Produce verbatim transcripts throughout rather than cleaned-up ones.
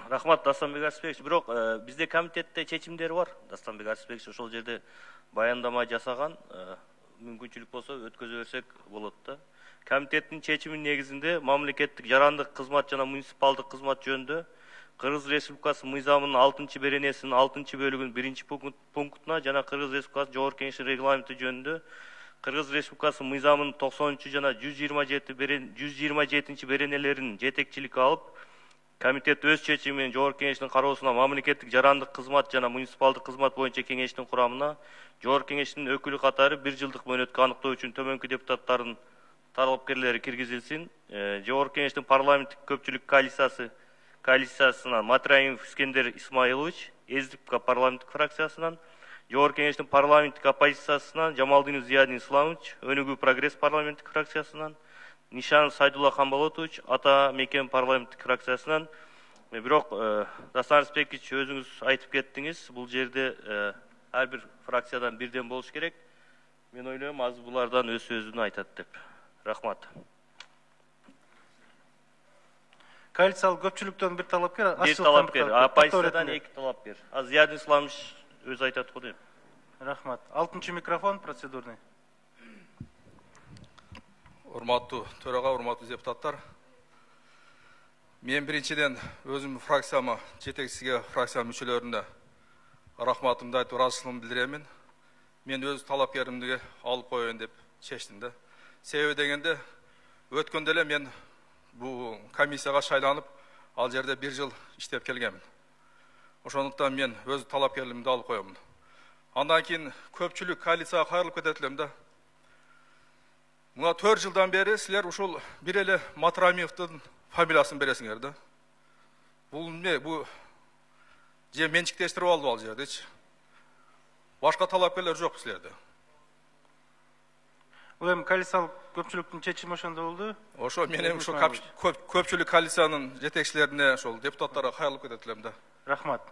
Рахмат, Дастанбек Арсызбекович. Бирок бизде комитетте чечимдер бар. Дастанбек Арсызбекович ошол жерде баяндама жасаган. Мүмкүнчүлүк болсо өткөзө берсек болот да. Комитеттин чечиминин негизинде мамлекеттик жарандык кызмат жана муниципалдык кызмат жөнүндө Кыргыз Республикасы мыйзамынын алтынчы беренесинин алтынчы бөлүгүнүн биринчи пунктуна жана Кыргыз Республикасы Жогорку Кеңешинин регламенти жөнүндө Кыргыз Республикасы мыйзамынын токсонунчу жана жүз жыйырма жети жүз жыйырма жетинчи беренелерин жетекчиликке алып, комитет өз чечими менен Жогорку Кеңештин кароосуна мамлекеттик жарандык кызмат жана муниципалдык кызмат боюнча кеңештин курамына Жогорку Кеңештин өкүлү катары бир жылдык мөөнөткө аныктоо үчүн төмөнкү депутаттардын талапкерлери киргизилсин. Жогорку Кеңештин парламенттик көпчүлүк коалициясы коалициясынан Матраимов Искендер Исмаилович, ЭСДПК парламенттик фракциясынан, Жогорку Кеңештин парламенттик оппозициясынан Жамалдинов Зиядин Исламович, Өнүгүү прогресс парламенттик фракциясынан, Нишанов Сайдулла Хамболотович, Ата Мекен парламенттик фракциясынан. Бирок Дастан Арсызбекович, өзүңүз айтып кеттиңиз, бул жерде ар бир фракциядан бирден болуш керек. Мен ойлойм, азыр булардан өз сөзүн айтат деп. Рахмат. Коалициялык көпчүлүктөн бир талапкер, бир талапкер, оппозициядан эки талапкер. Аз Зиядин Исламович өз айтат го дейм. Рахмат. алтынчы микрофон процедурный. Урматтуу төрага, урматтуу депутаттар. Мен биринчиден өзүм фракцияма, жетекчиге фракция мүчөлөрүнө рахматымды айтып, ыраазычылыгымды билдиремин. Мен өз талапкеримди алып коеюн деп чечтим да. Себеби дегенде өткөндө эле мен бул комиссияга шайланып, ал жерде бир жыл иштеп келгенмин. Ошондуктан мен өз талапкерлигимди алып коемун. Андан кийин көпчүлүк коалицияга кайрылып кетет элем да. Мына төрт жылдан бери силер ушул бир эле Матраимовдун фамилиясын бересиңер да. Бул эмне? Бул же менчиктештирип алды ал жердечи. Башка талапкерлер жок силерде. Бул эми коалициялык көпчүлүктүн чечими ошондо болду. Ошо мен эми ушу көпчүлүк коалициянын жетекчилерине, ошол депутаттарга кайрылып кетет элем да. Рахмат.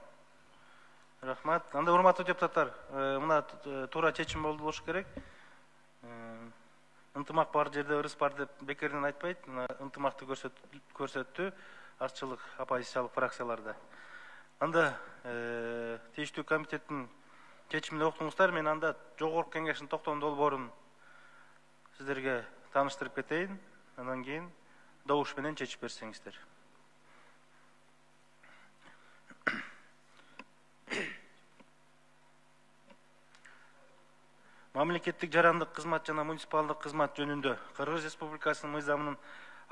Рахмат. Анда урматтуу депутаттар, мына туура чечим болду болуш керек. Ынтымак бар жерде ырыс бар деп бекерден айтпайт. Ынтымакты көрсөттү артчылык оппозициялык фракцияларда. Анда тийиштүү комитеттин чечимин уктуңуздар. Мен анда Жогорку Кеңештин токтом долбоорун сиздерге тааныштырып кетейин. Андан кийин добуш менен чечип берсеңиздер. Мамлекеттик жарандык кызмат жана муниципалдык кызмат жөнүндө Кыргыз Республикасынын мыйзамынын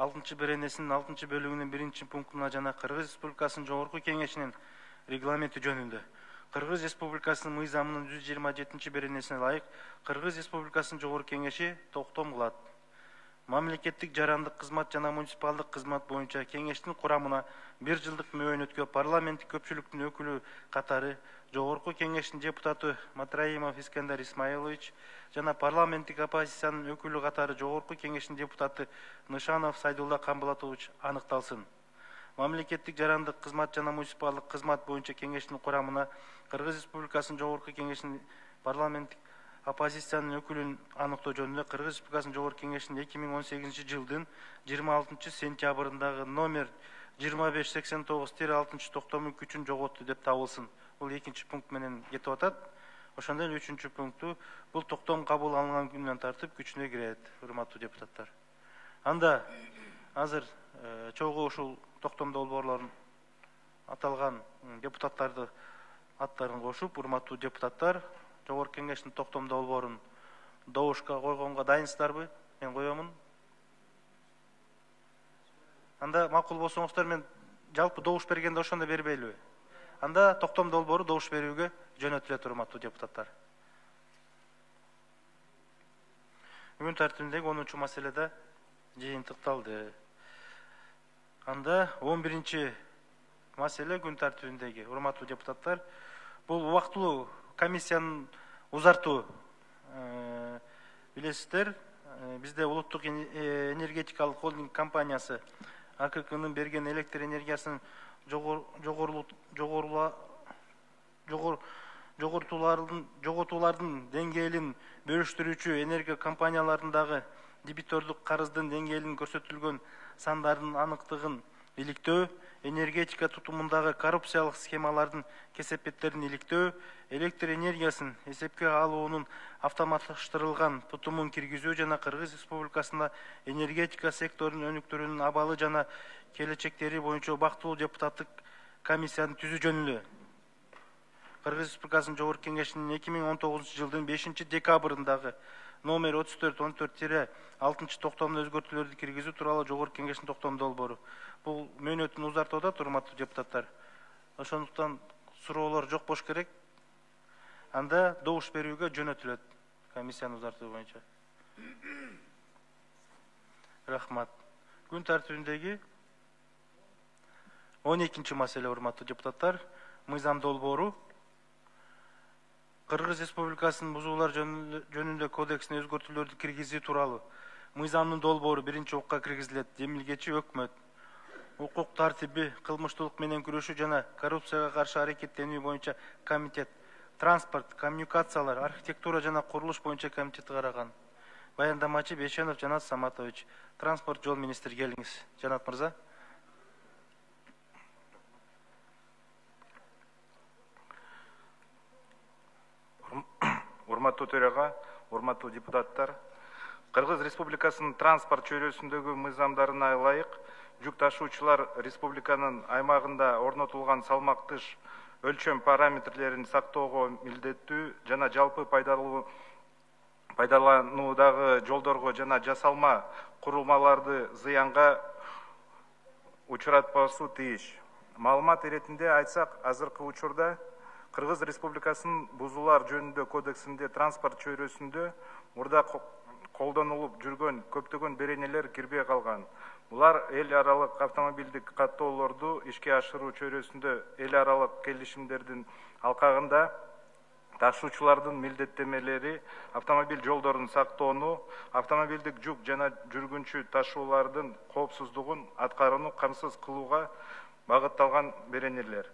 алтынчы беренесинин алтынчы бөлүгүнүн биринчи пунктуна жана Кыргыз Республикасынын Жогорку Кеңешинин регламенти жөнүндө Кыргыз Республикасынын мыйзамынын жүз жыйырма жетинчи беренесине ылайык Кыргыз Республикасынын Жогорку Кеңеши токтом кылат. Мамлекеттик жарандык кызмат жана муниципалдык кызмат боюнча кеңештин курамына бир жылдык мөөнөткө парламенттик көпчүлүктүн өкүлү катары Жогорку Кеңештин депутаты Матраимов Искендер Исмаилович жана парламенттик оппозициянын өкүлү катары Жогорку Кеңештин депутаты Нышанов Сайдулла Камбалатович аныкталсын. Мамлекеттик жарандык кызмат жана муниципалдык кызмат боюнча кеңештин курамына Кыргыз Республикасынын Жогорку Кеңешинин парламенттик оппозициянын өкүлүн аныктоо жөнүндө Кыргыз Республикасынын Жогорку Кеңешинин эки миң он сегизинчи жылдын жыйырма алтынчы сентябрындагы номер жыйырма беш сексен тогуз алтынчы токтому күчүн жоготту деп табылсын. Бул экинчи пункт менен кетип атат. Ошондой эле үчүнчү пункту бул токтом кабыл алынган күндөн тартып күчүнө кирет, урматтуу депутаттар. Анда азыр чогуу ушул токтом долбоорлорун аталган депутаттарды аттарын кошуп, урматтуу депутаттар, Жогорку Кеңештин токтом долбоорун добушка койгонго дайынсыздарбы? Мен коемун. Анда макул болсоңуздар, мен жалпы добуш бергенде ошондо бербейлиби? Анда токтом долбоору добуш берүүгө жөнөтүлөт, урматтуу депутаттар. Күн тартибиндеги онунчу маселеде жыйынтыкталды. Анда он биринчи маселе күн тартибиндеги, урматтуу депутаттар, бул убактылуу комиссиянын узартуу. Билесиздер, бизде улуттук энергетикалык холдинг компаниясы А К К'нын берген электр энергиясынын жоготуулардын деңгээлин бөлүштүрүүчү энергия компанияларындагы дебитордук карыздын деңгээлин көрсөтүлгөн сандардын аныктыгын иликтөө, энергетика тутумундагы коррупциялык схемалардын кесепеттерин иликтөө, электр энергиясын эсепке алуунун автоматташтырылган тутумун киргизүү жана Кыргыз Республикасында энергетика секторунун өнүктүрүүнүн абалы жана келечектери боюнча убактылуу депутаттык комиссияны түзүү жөнүндө Кыргыз Республикасынын Жогорку Кеңешинин эки миң он тогузунчу жылдын бешинчи декабрындагы номер отуз төрт он төрт тире алтынчы токтомуна өзгөртүүлөрдү киргизүү тууралуу Жогорку Кеңештин токтом долбоору. Бул мөөнөтүн узартып атат, урматтуу депутаттар. Ошондуктан суроолор жок болуш керек. Анда добуш берүүгө жөнөтүлөт комиссияны узартуу боюнча. Рахмат. Күн тартибиндеги он экинчи маселе, урматтуу депутаттар, мыйзам долбоору Кыргыз Республикасынын бузуулар жөнүндө кодексине өзгөртүүлөрдү киргизүү тууралуу мыйзамдын долбоору биринчи окуга киргизилет. Демилгечи өкмөт укук тартиби, кылмыштуулук менен күрөшүү жана коррупцияга каршы аракеттенүү боюнча комитет, транспорт, коммуникациялар, архитектура жана курулуш боюнча комитети караган. Баяндамачы Бейшенов Жанат Саматович, транспорт жол министри, келиңиз. Жанат мырза. Урматтуу төрага, урматтуу депутаттар, Кыргыз Республикасынын транспорт чөйрөсүндөгү мыйзамдарына ылайык жүк ташуучулар республиканын аймагында орнотулган салмактыш өлчөм параметрлерин сактоого милдеттүү жана жалпы пайдалануудагы жолдорго жана жасалма курулмаларды зыянга учуратпасуу тийиш. Маалымат иретинде айтсак, азыркы учурда Кыргыз Республикасынын бузуулар жөнүндө кодексинде транспорт чөйрөсүндө мурда колдонулуп жүргөн көптөгөн беренелер кирбей калган. Булар эл аралык автомобилдик каттоолорду ишке ашыруу чөйрөсүндө эл аралык келишимдердин алкагында ташуучулардын милдеттемелери, автомобиль жолдорун сактоону, автомобилдик жүк жана жүргүнчү ташуулардын коопсуздугун аткарууну камсыз кылууга багытталган беренелер.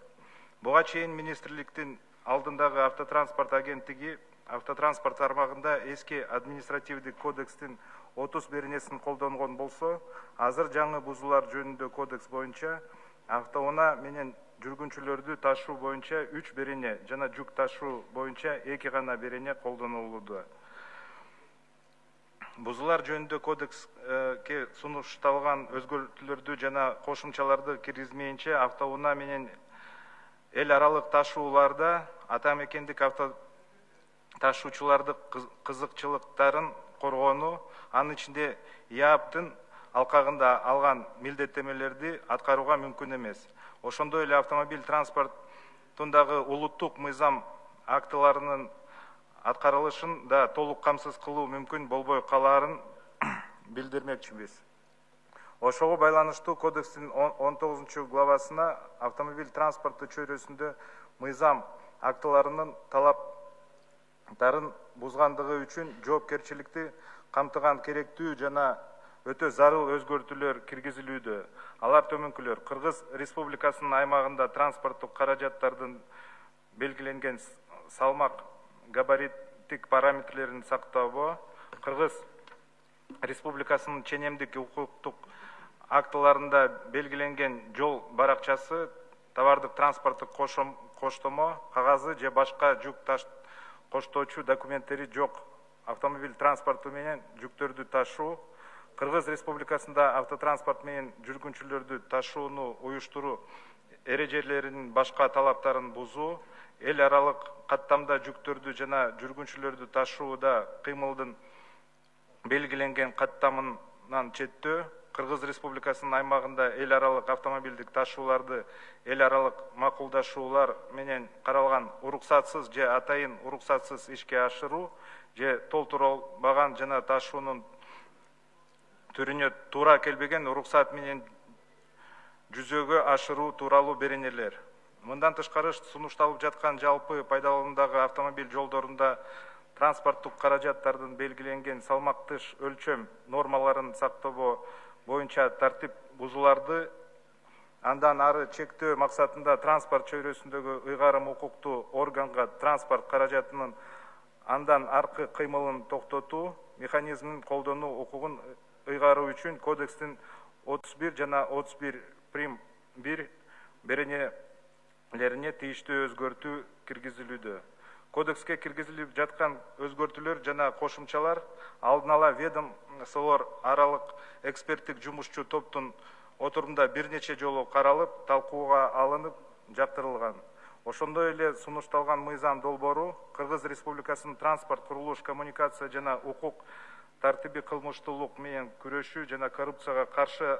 Буга чейин министрликтин алдындагы автотранспорт агенттиги автотранспорт тармагында эски административдик кодекстин отуз беренесин колдонгон болсо, азыр жаңы бузуулар жөнүндө кодекс боюнча автоунаа менен жүргүнчүлөрдү ташуу боюнча үч берене жана жүк ташуу боюнча эки гана берене колдонулууда. Бузуулар жөнүндө кодекске сунушталган өзгөртүүлөрдү жана кошумчаларды киргизмейинче автоунаа менен эл аралык ташууларда ата мекендик авто ташуучулардын кызыкчылыктарын коргоону, анын ичинде ИАПтын алкагында алган милдеттемелерди аткарууга мүмкүн эмес. Ошондой эле автомобиль транспортундагы улуттук мыйзам актыларынын аткарылышын да толук камсыз кылуу мүмкүн болбой калаарын билдирмекчибиз. Ошого байланыштуу кодекстин он тогузунчу главасына автомобиль транспорту чөйрөсүндө мыйзам актыларынын талаптарын бузгандыгы үчүн жоопкерчиликти камтыган керектүү жана өтө зарыл өзгөртүүлөр киргизилүүдө. Алар төмөнкүлөр: Кыргыз Республикасынын аймагында транспорттук каражаттардын белгиленген салмак габариттик параметрлерин сактоого, Кыргыз Республикасынын ченемдик укуктук актыларында белгиленген жол баракчасы, товардык транспорттук коштомо, кагазы же башка жүк коштоочу документтери жок автомобиль транспорту менен жүктөрдү ташуу, Кыргыз Республикасында автотранспорт менен жүргүнчүлөрдү ташууну уюштуруу эрежелеринин башка талаптарын бузуу, эл аралык каттамда жүктөрдү жана жүргүнчүлөрдү ташууда кыймылдын белгиленген каттамынан четтөө, Кыргыз Республикасынын аймагында эл аралык автомобилдик ташууларды эл аралык макулдашуулар менен каралган уруксатсыз же атайын уруксатсыз ишке ашыруу же толтурулбаган жана ташуунун түрүнө туура келбеген уруксат менен жүзөгө ашыруу тууралуу беренелер. Мындан тышкары сунушталып жаткан жалпы пайдалануудагы автомобиль жолдорунда транспорттук каражаттардын белгиленген салмактыш өлчөм нормаларын сактоо боюнча тартип бузууларды андан ары чектөө максатында транспорт чөйрөсүндөгү ыйгарым укуктуу органга транспорт каражатынын андан аркы кыймылын токтотуу механизмин колдонуу укугун ыйгаруу үчүн кодекстин отуз бир жана отуз бир прим бир беренелерине тиештүү өзгөртүү киргизилүүдө. Кодекске киргизилип жаткан өзгөртүүлөр жана кошумчалар алдын ала ведомстволор аралык эксперттик жумушчу топтун отурумда бир нече жолу каралып, талкууга алынып, жактырылган. Ошондой эле сунушталган мыйзам долбоору Кыргыз Республикасынын транспорт, курулуш, коммуникация жана укук тартиби кылмыштуулук менен күрөшүү жана коррупцияга каршы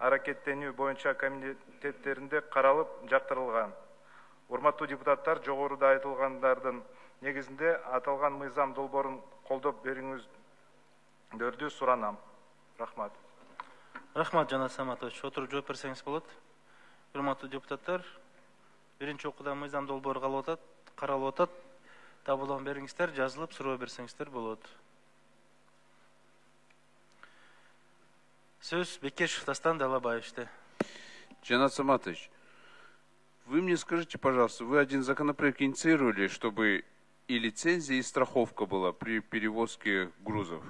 аракеттенүү боюнча комитеттеринде каралып, жактырылган. Урматтуу депутаттар, жогоруда айтылгандардын негизинде аталган мыйзам долбоорун колдоп бериңиздерди суранам. Рахмат. Рахмат, Жанат Саматович. Отуруп жооп берсеңиз болот. Урматтуу депутаттар, биринчи окууда мыйзам долбоору каралып атат. Табылган бериңиздер, жазылып суроо берсеңиздер болот. Сөз Бекешев Дастан Далабаевичте. Жанат Саматович, вы мне скажите, пожалуйста, вы один законопроект инициировали, чтобы и лицензия, и страховка была при перевозке грузов.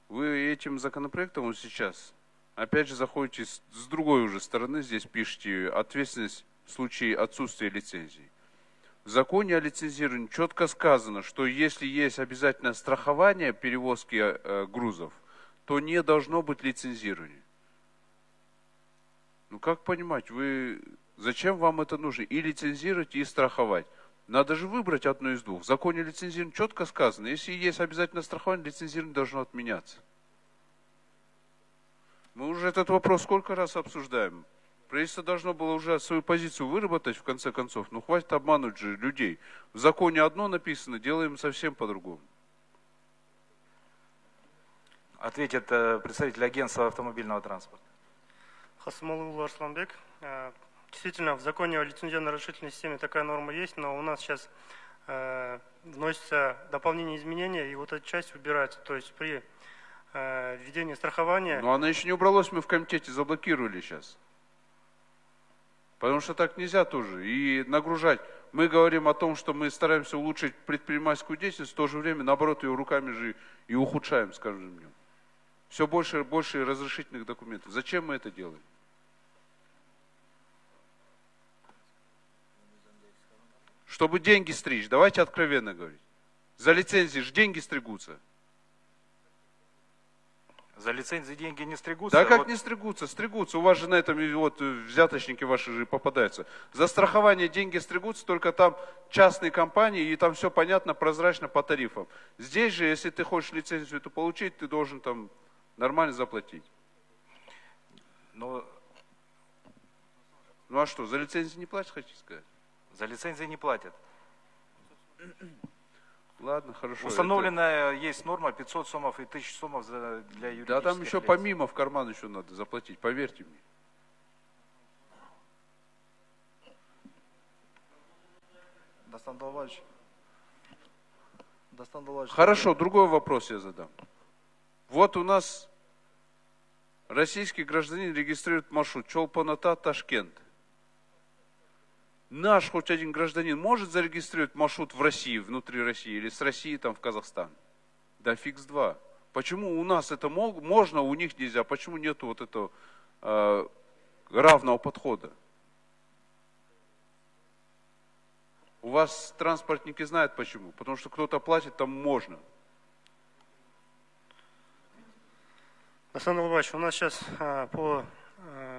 Вы этим законопроектом сейчас, опять же, заходите с, с другой уже стороны, здесь пишете ответственность в случае отсутствия лицензии. В законе о лицензировании четко сказано, что если есть обязательное страхование перевозки э, грузов, то не должно быть лицензирования. Ну как понимать, вы зачем вам это нужно? И лицензировать, и страховать. Надо же выбрать одно из двух. В законе лицензирования четко сказано, если есть обязательное страхование, лицензирование должно отменяться. Мы уже этот вопрос сколько раз обсуждаем. Правительство должно было уже свою позицию выработать в конце концов. Ну хватит обмануть же людей. В законе одно написано, делаем совсем по-другому. Ответит представитель агентства автомобильного транспорта. Хасмалыулы Арсланбек. Действительно, в законе о лицензионно-разрешительной системе такая норма есть, но у нас сейчас э, вносится дополнение изменения, и вот эта часть убирается. То есть при э, введении страхования... Но она еще не убралась, мы в комитете заблокировали сейчас. Потому что так нельзя тоже. И нагружать. Мы говорим о том, что мы стараемся улучшить предпринимательскую деятельность, в то же время, наоборот, ее руками же и ухудшаем, скажем днем. Все больше и больше разрешительных документов. Зачем мы это делаем? Чтобы деньги стричь. Давайте откровенно говорить. За лицензии же деньги стригутся. За лицензии деньги не стригутся? Да как вот... не стригутся? Стригутся. У вас же на этом вот взяточники ваши же попадаются. За страхование деньги стригутся, только там частные компании, и там все понятно, прозрачно по тарифам. Здесь же, если ты хочешь лицензию эту получить, ты должен там нормально заплатить. Но... Ну а что, за лицензию не платят, хотите сказать? За лицензии не платят. Ладно, хорошо. Установленная это... есть норма пятьсот сомов и тысяча сомов за, для юридических Да там еще лиц. помимо в карман еще надо заплатить, поверьте мне. Дастан Далабаевич. Дастан Далабаевич. Хорошо, другой вопрос я задам. Вот у нас российский гражданин регистрирует маршрут Чолпон-Ата, Ташкент. Наш хоть один гражданин может зарегистрировать маршрут в России, внутри России, или с России там в Казахстан? Да фиг с два. Почему у нас это мог, можно, у них нельзя? Почему нету вот этого э, равного подхода? У вас транспортники знают почему. Потому что кто-то платит, там можно. Александр Лобаевич, у нас сейчас а, по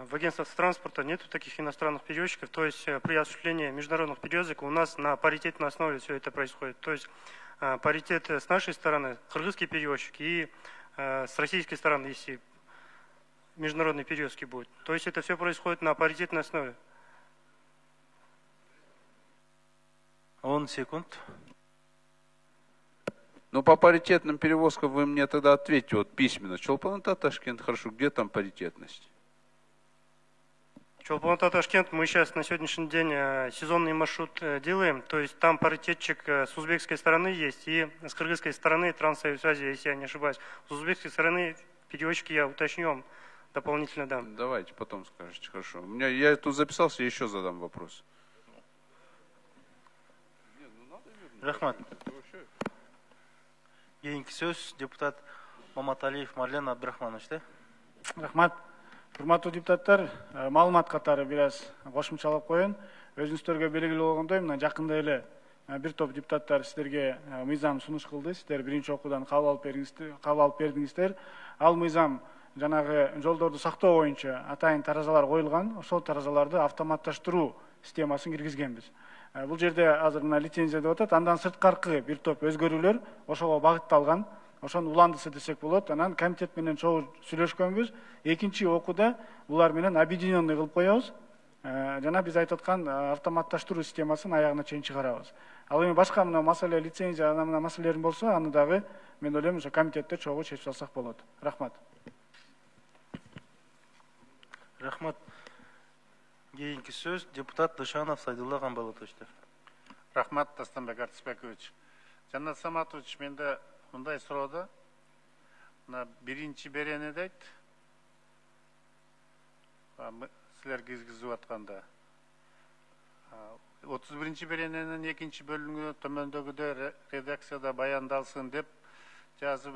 в агентстве транспорта нету таких иностранных перевозчиков, то есть при осуществлении международных перевозок у нас на паритетной основе все это происходит. То есть паритет с нашей стороны, кыргызские перевозчики, и с российской стороны, если международные перевозки будут. То есть это все происходит на паритетной основе. Он секунд. Ну, по паритетным перевозкам вы мне тогда ответьте вот письменно. Чолпон-Ата, Ташкент, хорошо, где там паритетность? Чолпон-Ата, Ташкент, мы сейчас на сегодняшний день сезонный маршрут делаем, то есть там паритетчик с узбекской стороны есть, и с кыргызской стороны Транссоюз связи, если я не ошибаюсь. С узбекской стороны перевозчики я уточню, дополнительно дам. Давайте, потом скажете, хорошо. У меня, я тут записался, я еще задам вопрос. Рахмат. Кейинки сөз депутат Маматалиев Марлен Абдрахманович, да? Рахмат. Урматтуу депутаттар, маалымат катары бир аз кошумчалап коеюн. Өзүңүздөргө белгилүү болгондой, мына жакында эле бир топ депутаттар сиздерге мыйзам сунуш кылды. Сиздер биринчи окуудан кабыл алып бериңиздер, кабыл алып бердиңиздер. Ал мыйзам жанагы жолдорду сактоо боюнча атайын таразалар коюлган. Ошол таразаларды автоматташтыруу системасын киргизгенбиз. Бул жерде азыр мына лицензия деп атат. Андан сырткаркы бир топ өзгөрүүлөр ошого багытталган. Ошонун уландысы десек болот. Анан комитет менен чогуу сүйлөшкөнбүз. Экинчи окууда булар менен объединенный кылып коебуз. Жана биз айтып аткан автоматташтыруу системасын аягына чейин чыгарабыз. Ал эми башка мына маселе лицензия анан мына маселелерин болсо, аны дагы мен ойлойм ошо комитетте чогуу чечип алсак болот. Рахмат. Рахмат. Кийинки сөз депутат Дышанов Сайдулла Гамбалатовичтер. Рахмат, Дастанбек Артисбекович. Жанат Саматович, менде мындай суроо. Мына биринчи беренеде айт. Силер киргизип атканда отуз биринчи берененин экинчи бөлүгү төмөндөгүдөй редакцияда баяндалсын деп жазып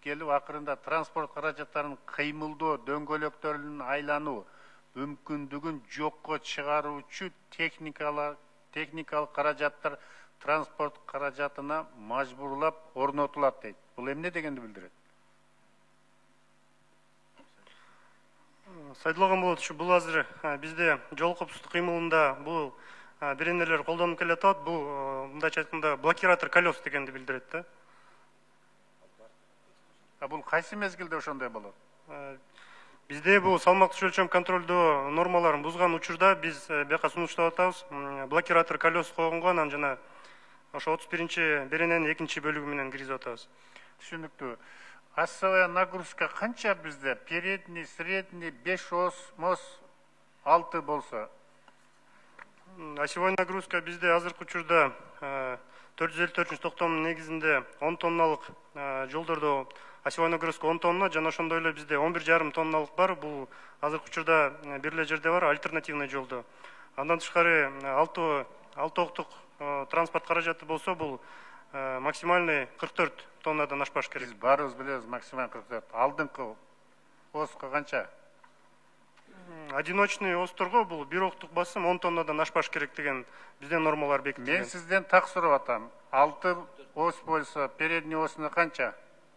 келип, акырында транспорт каражаттарын кыймылдоо дөңгөлөктөрүнүн айлануу мүмкүндүгүн жокко чыгаруучу техникалык техникалык каражаттар транспорт каражатына мажбурлап орнотулат дейт. Бул эмне дегенди билдирет? Сайдулла Гамбалатович, бул азыр бизде жол коопсуздук кыймылында бул беренелер колдонуп келатат. Бул мындайча айтканда блокиратор колес дегенди билдирет да. А бул кайсы мезгилде ошондой болот? Бизде бул салмактуу өлчөм контролдоо нормаларын бузган учурда биз бияка сунуштап атабыз. Блокиратор колес койгонго анан жана ошо отуз биринчи берененин экинчи бөлүгү менен киргизип атабыз. Түшүнүктүү. Осевая нагрузка канча бизде? Передний, средний, беш ос, мос, алты болсо? Осевой нагрузка бизде азыркы учурда төрт жүз элүү төртүнчү токтомдун негизинде он тонналык жолдордо осевой нагрузка он тонна, жана ошондой эле бизде он бир жарым тонналык бар. Бул азыркы учурда бир эле жерде бар, альтернативный жолдо. Андан тышкары алты алты октук транспорт каражаты болсо, бул максимальный кырк төрт тоннадан ашпаш керек. Биз баарыбыз билебиз, максималь кырк төрт. Алдыңкы оска канча? Одиночный осторго бул бир октук басым он тоннадан ашпаш керек деген бизде нормалар бекитилген. Мен сизден так сурап атам. алты ос болсо, передний осуна канча?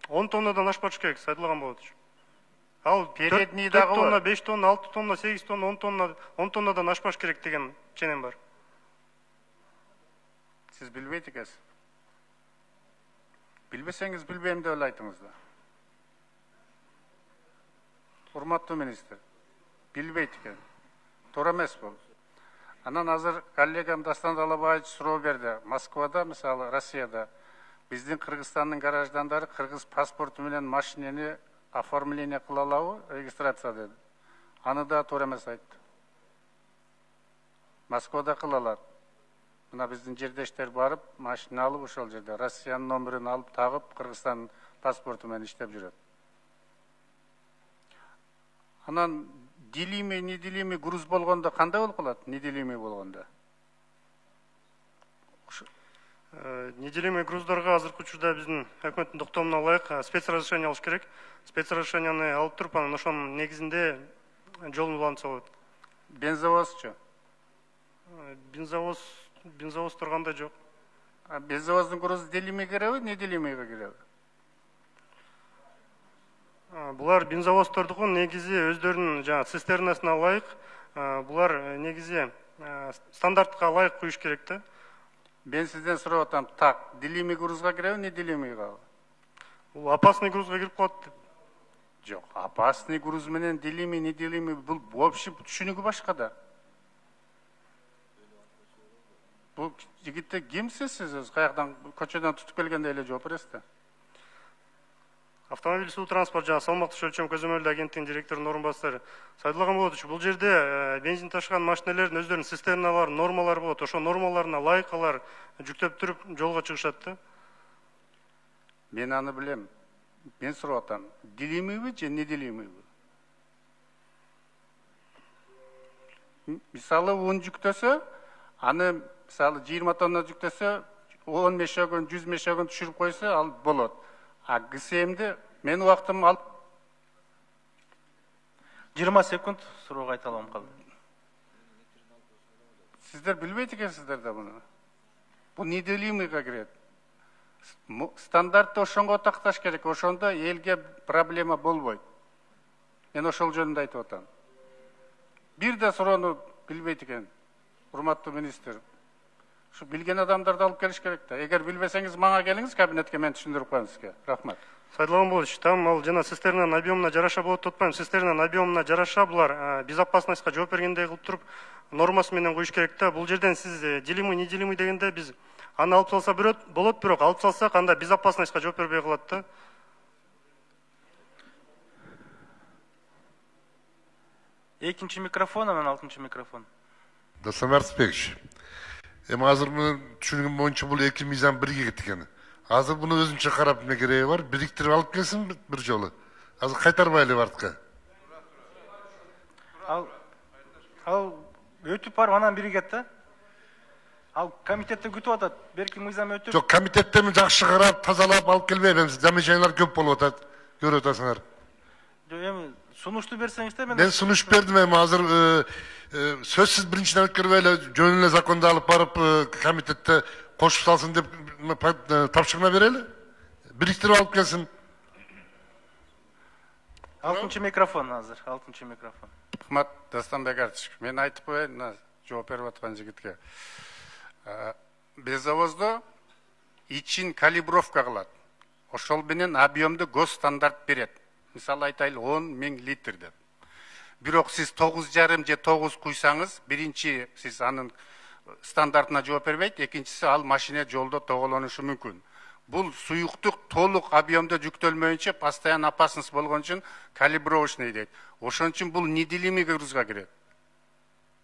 он тоннадан ашпаш керек, Сайдулла Гамбалатович. Ал передний дагы төрт тонна, беш тонна, алты тонна, сегиз тонна, он тонна, он тоннадан ашпаш керек деген ченем бар. Сиз билбейт экенсиз. Билбесеңиз билбейм деп эле айтыңыз да. Урматтуу министр, билбейт экен. Туура эмес бул. Анан азыр коллегам Дастан Талабаевич суроо берди. Москвада, мисалы, Россияда биздин Кыргызстандын граждандары кыргыз паспорту менен машинени оформление кыла алабы, регистрация деди. Аны да туура эмес айтты. Москвада кыла алат. Мына биздин жердештер барып, машина алып ошол жерде Россиянын номерин алып тагып, Кыргызстан паспорту менен иштеп жүрөт. Анан делимый, неделимый груз болгондо кандай болуп калат? Неделимый болгондо? Неделимый груздарга азыркы учурда биздин өкмөттүн токтомуна ылайык спецразрешение алыш керек. Спецразрешенияны алып туруп, анан ошонун негизинде жолун улантса болот. Бензовозчу? Бензовоз бензовоз турганда жок. А бензовоздун грузу делимый киреби, неделимыйга киреби? Булар бензовоздордуку негизи өздөрүнүн жана цистернасына ылайык, булар негизи стандартка ылайык куюш керек да. Мен сизден сурап атам, так, делимый грузга киреби, неделимыйга? Бул опасный грузга кирип калат деп. Жок, опасный груз менен делимый, неделимый бул вообще түшүнүгү башка да. Бул жигитте кимсиз сиз? Каяктан көчөдөн тутуп келгенде эле жооп бересиз да. Автомобиль суу транспорт жана салмактуу өлчөм көзөмөлдүү агенттигинин директорунун орун басары Сайдулла Гамбалатович, бул жерде бензин ташыган машинелердин өздөрүнүн цистерналары, нормалары болот. Ошо нормаларына ылайык алар жүктөп туруп жолго чыгышат да. Мен аны билем. Мен сурап атам, делимыйбы же неделимыйбы? Мисалы он жүктөсө, аны мисалы жыйырма тонна жүктөсө, он мешогон, жүз мешогон түшүрүп койсо, ал болот. А ГСМди мен убактым алып жыйырма секунд суроого айталам калды. Сиздер билбейт экенсиздер да буну. Бул неделимыйга кирет. Стандартты ошонго такташ керек, ошондо элге проблема болбойт. Мен ошол жөнүндө айтып атам. Бир да суроону билбейт экен, урматтуу министр. Ушу билген адамдарды алып келиш керек да. Эгер билбесеңиз, мага келиңиз кабинетке, мен түшүндүрүп коем сизге. Рахмат. Сайдлан Болович, там ал жана цистернанын объемуна жараша болот деп атпайм. Цистернанын объемуна жараша булар безопасностька жооп бергендей кылып туруп нормасы менен коюш керек да. Бул жерден сиз делимый, не делимый дегенде биз аны алып салса болот, бирок алып салсак анда безопасностька жооп бербей калат да. Экинчи микрофон, анан алтынчы микрофон. Дастан Артысбекович, эми азыр мунун түшүнгөнүм боюнча бул эки мыйзам бирге кеткен. Азыр буну өзүнчө карап эмне кереги бар? Бириктирип алып келсин бир жолу. Азыр кайтарбайлы артка. Ал ал өтүп барып анан биригет да. Ал комитетте күтүп атат. Берки мыйзам өтүп. Жок, комитетте мен жакшы карап, тазалап алып келбейм. Замечаниялар көп болуп атат. Көрүп атасыңар. Жок, эми сунушту берсеңиз да, мен Мен сунуш бердим, эми азыр сөзсүз биринчиден өткөрбөй эле жөн эле законду алып барып комитетте кошуп салсын деп тапшырма берели. Бириктирип алып келсин. алтынчы микрофон азыр, алтынчы микрофон. Рахмат, Дастанбек Артышев. Мен айтып коеюн, мына жооп берип аткан жигитке. Безовоздо ичин калибровка кылат. Ошол менен объемду госстандарт берет. Мисалы айтайлы он миң литр деп. Бирок сиз тогуз жарым же тогуз куйсаңыз, биринчи сиз анын стандартына жооп бербейт, экинчиси ал машина жолдо тоголонушу мүмкүн. Бул суюктук толук объемдо жүктөлмөйүнчө постоянно опасность болгон үчүн калибровочный дейт. Ошон үчүн бул неделимый грузга кирет.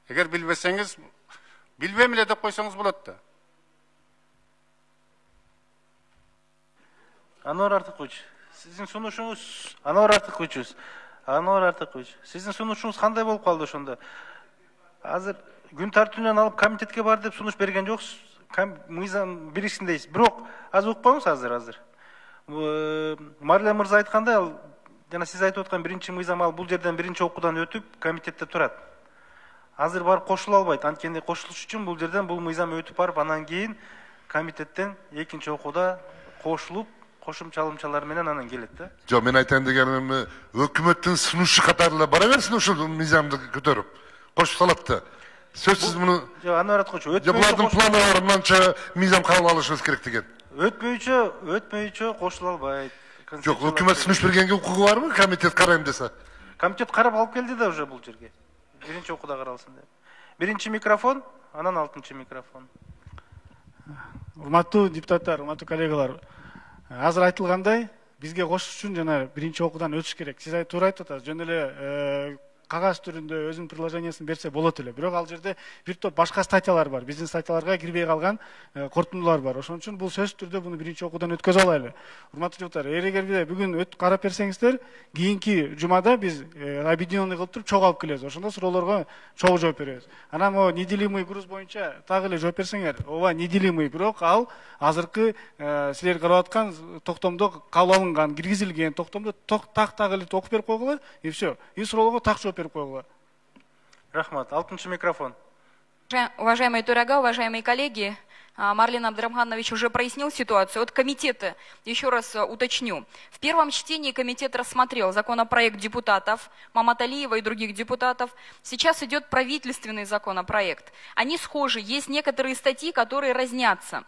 Эгер билбесеңиз, билбейм эле деп койсоңуз болот да. Анвар Артыкович, сиздин сунушуңуз, Анвар Артыкович, Анвар Артыкович, сиздин сунушуңуз кандай болуп калды ошондо? Азыр күн тартууунан алып комитетке бар деп сунуш берген жоксуз. Мыйзам бириксин дейсиз. Бирок аз укпаңыз азыр азыр. Марля мырза айткандай, ал жана сиз айтып аткан биринчи мыйзам ал бул жерден биринчи окуудан өтүп комитетте турат. Азыр барып кошула албайт. Анткени кошулуш үчүн бул жерден бул мыйзам өтүп барып, анан кийин комитеттен экинчи окууда кошулуп, кошумчалымчалар менен анан келет да. Жок, мен айтайын дегеним, өкмөттүн сунушу катары эле бара берсин ушул мыйзамды көтөрүп. Кошуп салат да. Сөзсүз муну. Жок, Анвар Аткоч, өтмөйчү. Булардын планы бар, мынанча мыйзам кабыл алышыбыз керек деген. Өтмөйчү, өтмөйчү кошула албайт. Жок, өкмөт сунуш бергенге укугу барбы? Комитет карайм десе. Комитет карап алып келди да уже бул жерге. Биринчи окууда каралсын деп. Биринчи микрофон, анан алтынчы микрофон. Урматтуу депутаттар, урматтуу коллегалар, азыр айтылгандай, бизге кошуш үчүн жана биринчи окуудан өтүш керек. Сиз туура айтып атасыз, жөн эле кагаз түрүндө өзүнүн приложениясын берсе болот эле. Бирок ал жерде бир топ башка статьялар бар. Биздин статьяларга кирбей калган кортундулар бар. Ошон үчүн бул сөзсүз түрдө буну биринчи окуудан өткөзө алайлы. Урматтуу депутаттар, эгер бүгүн өтүп карап берсеңиздер, кийинки жумада биз объединенный кылып туруп чогуу алып келебиз. Ошондо суроолорго чогуу жооп беребиз. Анан о неделимый груз боюнча так эле жооп берсеңер, ооба неделимый, бирок ал азыркы силер карап аткан токтомдо кабыл алынган, киргизилген токтомдо так так эле окуп берип койгула, и все. И суроолорго так жооп берип койгула. Рахмат. Алтынчы микрофон. Уважаемые Турага, уважаемые коллеги, Марлен Абдрахманович уже прояснил ситуацию. От комитета, еще раз уточню. В первом чтении комитет рассмотрел законопроект депутатов Маматалиева и других депутатов. Сейчас идет правительственный законопроект. Они схожи. Есть некоторые статьи, которые разнятся.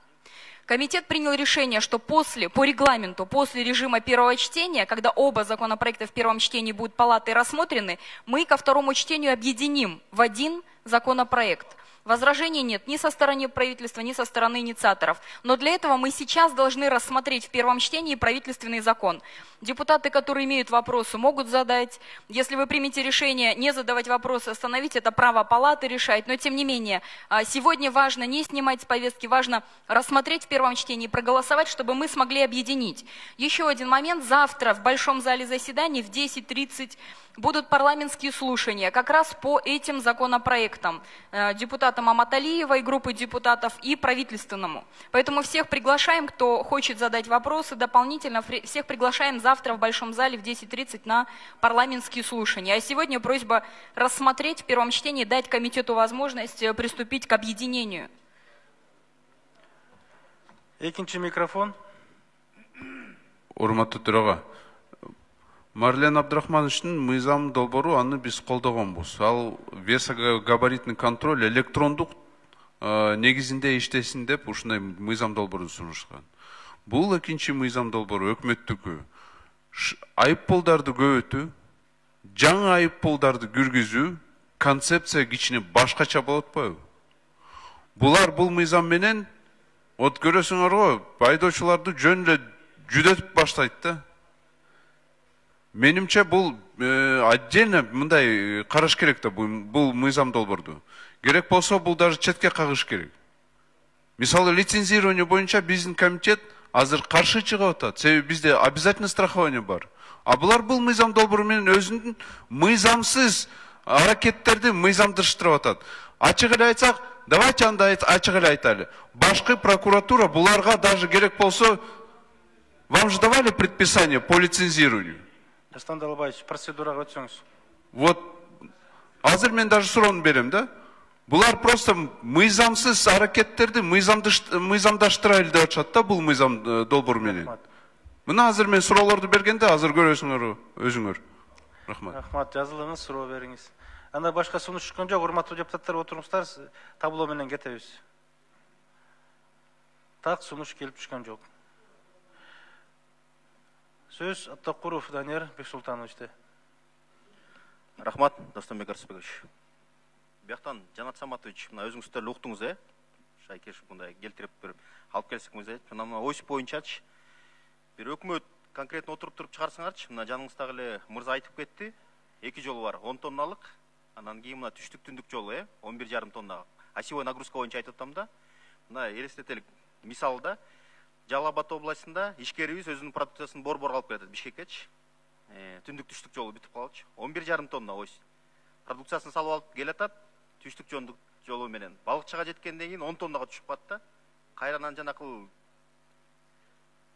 Комитет принял решение, что после, по регламенту, после режима первого чтения, когда оба законопроекта в первом чтении будут палатой рассмотрены, мы ко второму чтению объединим в один законопроект. Возражений нет ни со стороны правительства, ни со стороны инициаторов. Но для этого мы сейчас должны рассмотреть в первом чтении правительственный закон. Депутаты, которые имеют вопросы, могут задать. Если вы примете решение не задавать вопросы, остановить, это право палаты решать. Но тем не менее, сегодня важно не снимать с повестки, важно рассмотреть в первом чтении, проголосовать, чтобы мы смогли объединить. Еще один момент. Завтра в Большом зале заседаний в десять тридцать будут парламентские слушания как раз по этим законопроектам. Депутаты депутатам Аматалиевой, группы депутатов и правительственному. Поэтому всех приглашаем, кто хочет задать вопросы дополнительно, всех приглашаем завтра в Большом зале в десять тридцать на парламентские слушания. А сегодня просьба рассмотреть в первом чтении, дать комитету возможность приступить к объединению. Экинчи микрофон. Урматтуу төрага, Марлен Абдрахмановичтин мыйзам долбоору аны биз колдогонбуз. Ал весогабаритный контроль электрондук негизинде иштесин деп ушундай мыйзам долбоорун сунушкан. Бул экинчи мыйзам долбоору өкмөттүкү. Айыппулдарды көбөйтүү, жаңы айыппулдарды киргизүү, концепция кичине башкача болот атпайбы? Булар бул мыйзам менен от көрөсүңөр го, айдоочуларды жөн эле жүдөтүп баштайт да. Менимче бул отдельно мындай караш керек да бул мыйзам долбоорду. Керек болсо бул даже четке кагыш керек. Мисалы лицензирование боюнча биздин комитет азыр каршы чыгып атат. Себеби бизде обязательно страхование бар. А булар бул мыйзам долбоору менен өзүнүн мыйзамсыз аракеттерди мыйзамдыштырып атат. Ачык эле айтсак, давайте анда ачык эле айтайлы. Башкы прокуратура буларга даже керек болсо, вам же давали предписание по лицензированию? Дастан Далабаевич, процедурага өтсөңүз. Вот, азыр мен даже суроону берем, да? Булар просто мыйзамсыз аракеттерди мыйзамдаштырайлы деп атышат да, бул мыйзам долбоору менен. Мына азыр мен суроолорду бергенде, азыр көрөсүңөр өзүңөр. Рахмат. Рахмат, жазылыңыз, суроо бериңиз. Анда башка сунуш чыккан жок, урматтуу депутаттар, отуруңуздар, табло менен кетебиз. Так, сунуш келип түшкөн жок. Сөз Аттакуров Данияр Бексултановичте. Рахмат, Дастанбек Арсбекович. Бияктан Жанат Саматович, мына өзүңүздөр уктуңуз, э? Шайкеш мындай келтирип берип алып келсек мыйзам. Мына ойсуп боюнчачы бир өкмөт конкретно отуруп туруп чыгарсаңарчы, мына жаныңыздагы эле мырза айтып кетти. Эки жолу бар, он тонналык. Анан кийин мына түштүк түндүк жолу, э? он бир жарым тонна. Осевой нагрузка боюнча айтып атам да. Мына элестетелик мисалда Жалал Абад областында ишкерибиз өзүнүн продукциясын борбор алып келет Бишкеккечи. Э, түндүк түштүк жолу бүтүп калчу. он бир жарым тонна ось. Продукциясын салып алып келатат, түштүк жолу менен. Балыкчыга жеткенден кийин он тоннага түшүп калат. Кайрадан жанакыл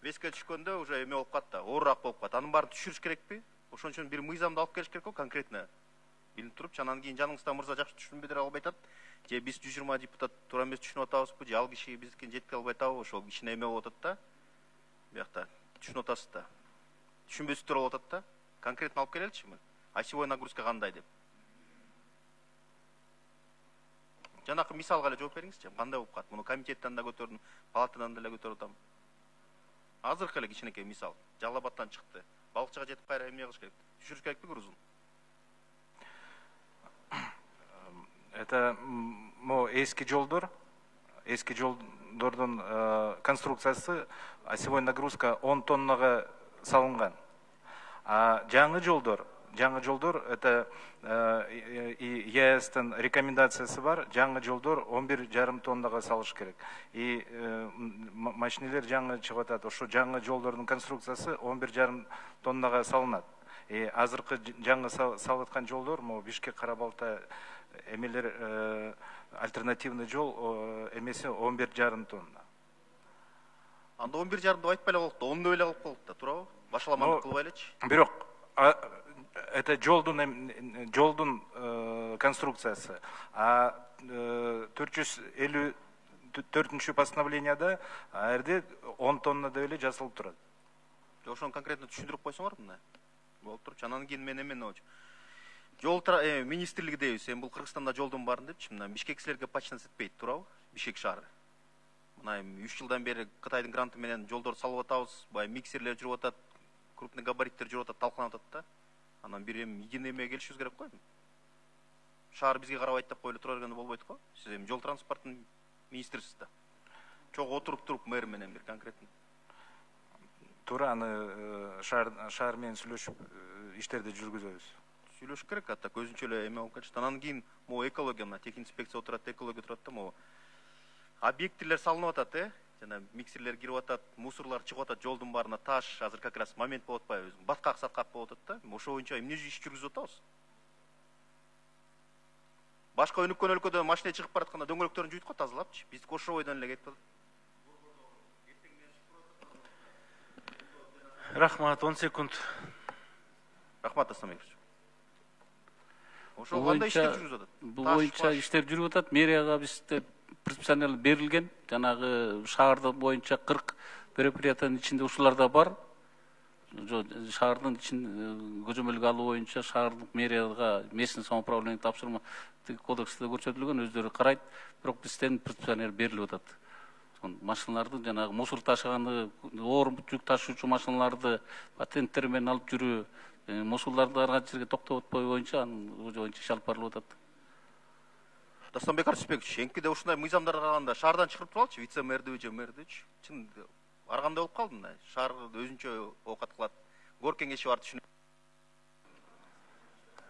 веске түшкөндө уже эме болуп калат да, оорураак болуп калат. Анын баарын түшүрүш керекпи? Ошон үчүн бир мыйзамды алып келиш керек го конкретно. Билип туруп, анан кийин жаныңызда мырза жакшы түшүнбөй деп албай атат. Же биз жүз жыйырма депутат туура эмес түшүнүп атабызбы, же ал киши биздикин жеткире албай атабы, ошол кичине эме болуп атат да. Биякта түшүнүп атасыз да. Түшүнбөсүздөр болуп атат да. Конкретно алып келеличи. Осевой нагрузка кандай деп. Жанакы мисалга эле жооп бериңизчи. Кандай болуп калат? Муну комитеттен да көтөрдүм, палатадан деле көтөрүп атам. Азыркы эле кичинекей мисал. Жалал Абадтан чыкты. Балыкчыга жетип кайра эмне кылыш керек? Түшүрүш керекпи грузун? Это мо эски жолдор, эски жолдордун конструкциясы осевой нагрузка он тоннага салынган. А жаңы жолдор, жаңы жолдор это и ЕСтин рекомендациясы бар, жаңы жолдор он бир жарым тоннага салыш керек. И машинелер жаңы чыгып атат, ошо жаңы жолдордун конструкциясы он бир жарым тоннага салынат. И азыркы жаңы салып аткан жолдор, мо Бишкек Карабалта эмелер альтернативный жол эмеси он бир жарым тонна. Анда он бир жарым деп айтпай эле болуп да, он деп эле калып калды да, туурабы? Башаламандык кылбай элечи. Бирок это жолдун жолдун конструкциясы. А төрт жүз элүү төртүнчү постановленияда а жерде он тонна деп эле жазылып турат. Ошону конкретно түшүндүрүп койсоңор мына. Болуп турчу. Анан кийин мен эмени болчу. Жол министрлиги дейбиз, эми бул Кыргызстанда жолдун барын депчи. Мына Бишкексилерге почтенность этпейт, туурабы? Бишкек шаары. Мына эми үч жылдан бери Кытайдын гранты менен жолдорду салып атабыз, бай миксерлер жүрүп атат, крупный габариттер жүрүп атат, талкаланып атат да. Анан бир эми единый эмеге келишибиз керек го. Шаар бизге карабайт деп коюлуп тура бергенде болбойт го. Сиз эми жол транспортунун министрисиз да. Чогуу отуруп туруп мэр менен бир конкретно. Туура аны шаар шаар менен сүйлөшүп иштерди жүргүзөбүз. Сүйлөш керек, ата көзүнчө эле эме болуп кетти. Анан кийин могу экология, мына тех инспекция отурат, экология турат да, могу объектилер салынып атат, э? Жана миксерлер кирип атат, мусорлар чыгып атат, жолдун баарына таш, азыр как раз момент болуп атпайбы? Баткак саткак болуп атат да. Ошо боюнча эмне иш жүргүзүп атабыз? башка өнүккөн өлкөдө машина чыгып баратканда дөңгөлөктөрүн жуйт го тазалапчы. Биз кошовойдон эле кетип атат. Рахмат, он секунд. Рахмат, Дастан Бекович. Ошол кандай иштер жүрүп атат? Бул боюнча иштер жүрүп атат. Мэрияга бизде предписание берилген. Жанагы шаардын боюнча кырк предприятиянын ичинде ушулар да бар. Шаардын ичин көзөмөлгө алуу боюнча шаардык мэрияга местный самоуправление тапшырма кодексте көрсөтүлгөн, өздөрү карайт. Бирок бизден предписание берилип атат. Машиналарды жанагы мусор ташыганы, оор жүк ташуучу машиналарды патенттер менен алып жүрүү, мусорларды ар кайсы жерге токтотпой боюнча анын боюнча иш алып барылып атат. Дастанбек Арсызбекович, энкиде ушундай мыйзамдар калганда шаардан чыгарып туралычы, вице-мэрди же мэрдичи. Чын ар кандай болуп калды мына? Шаар өзүнчө оокат кылат. Гор кеңеши бар түшүнүп.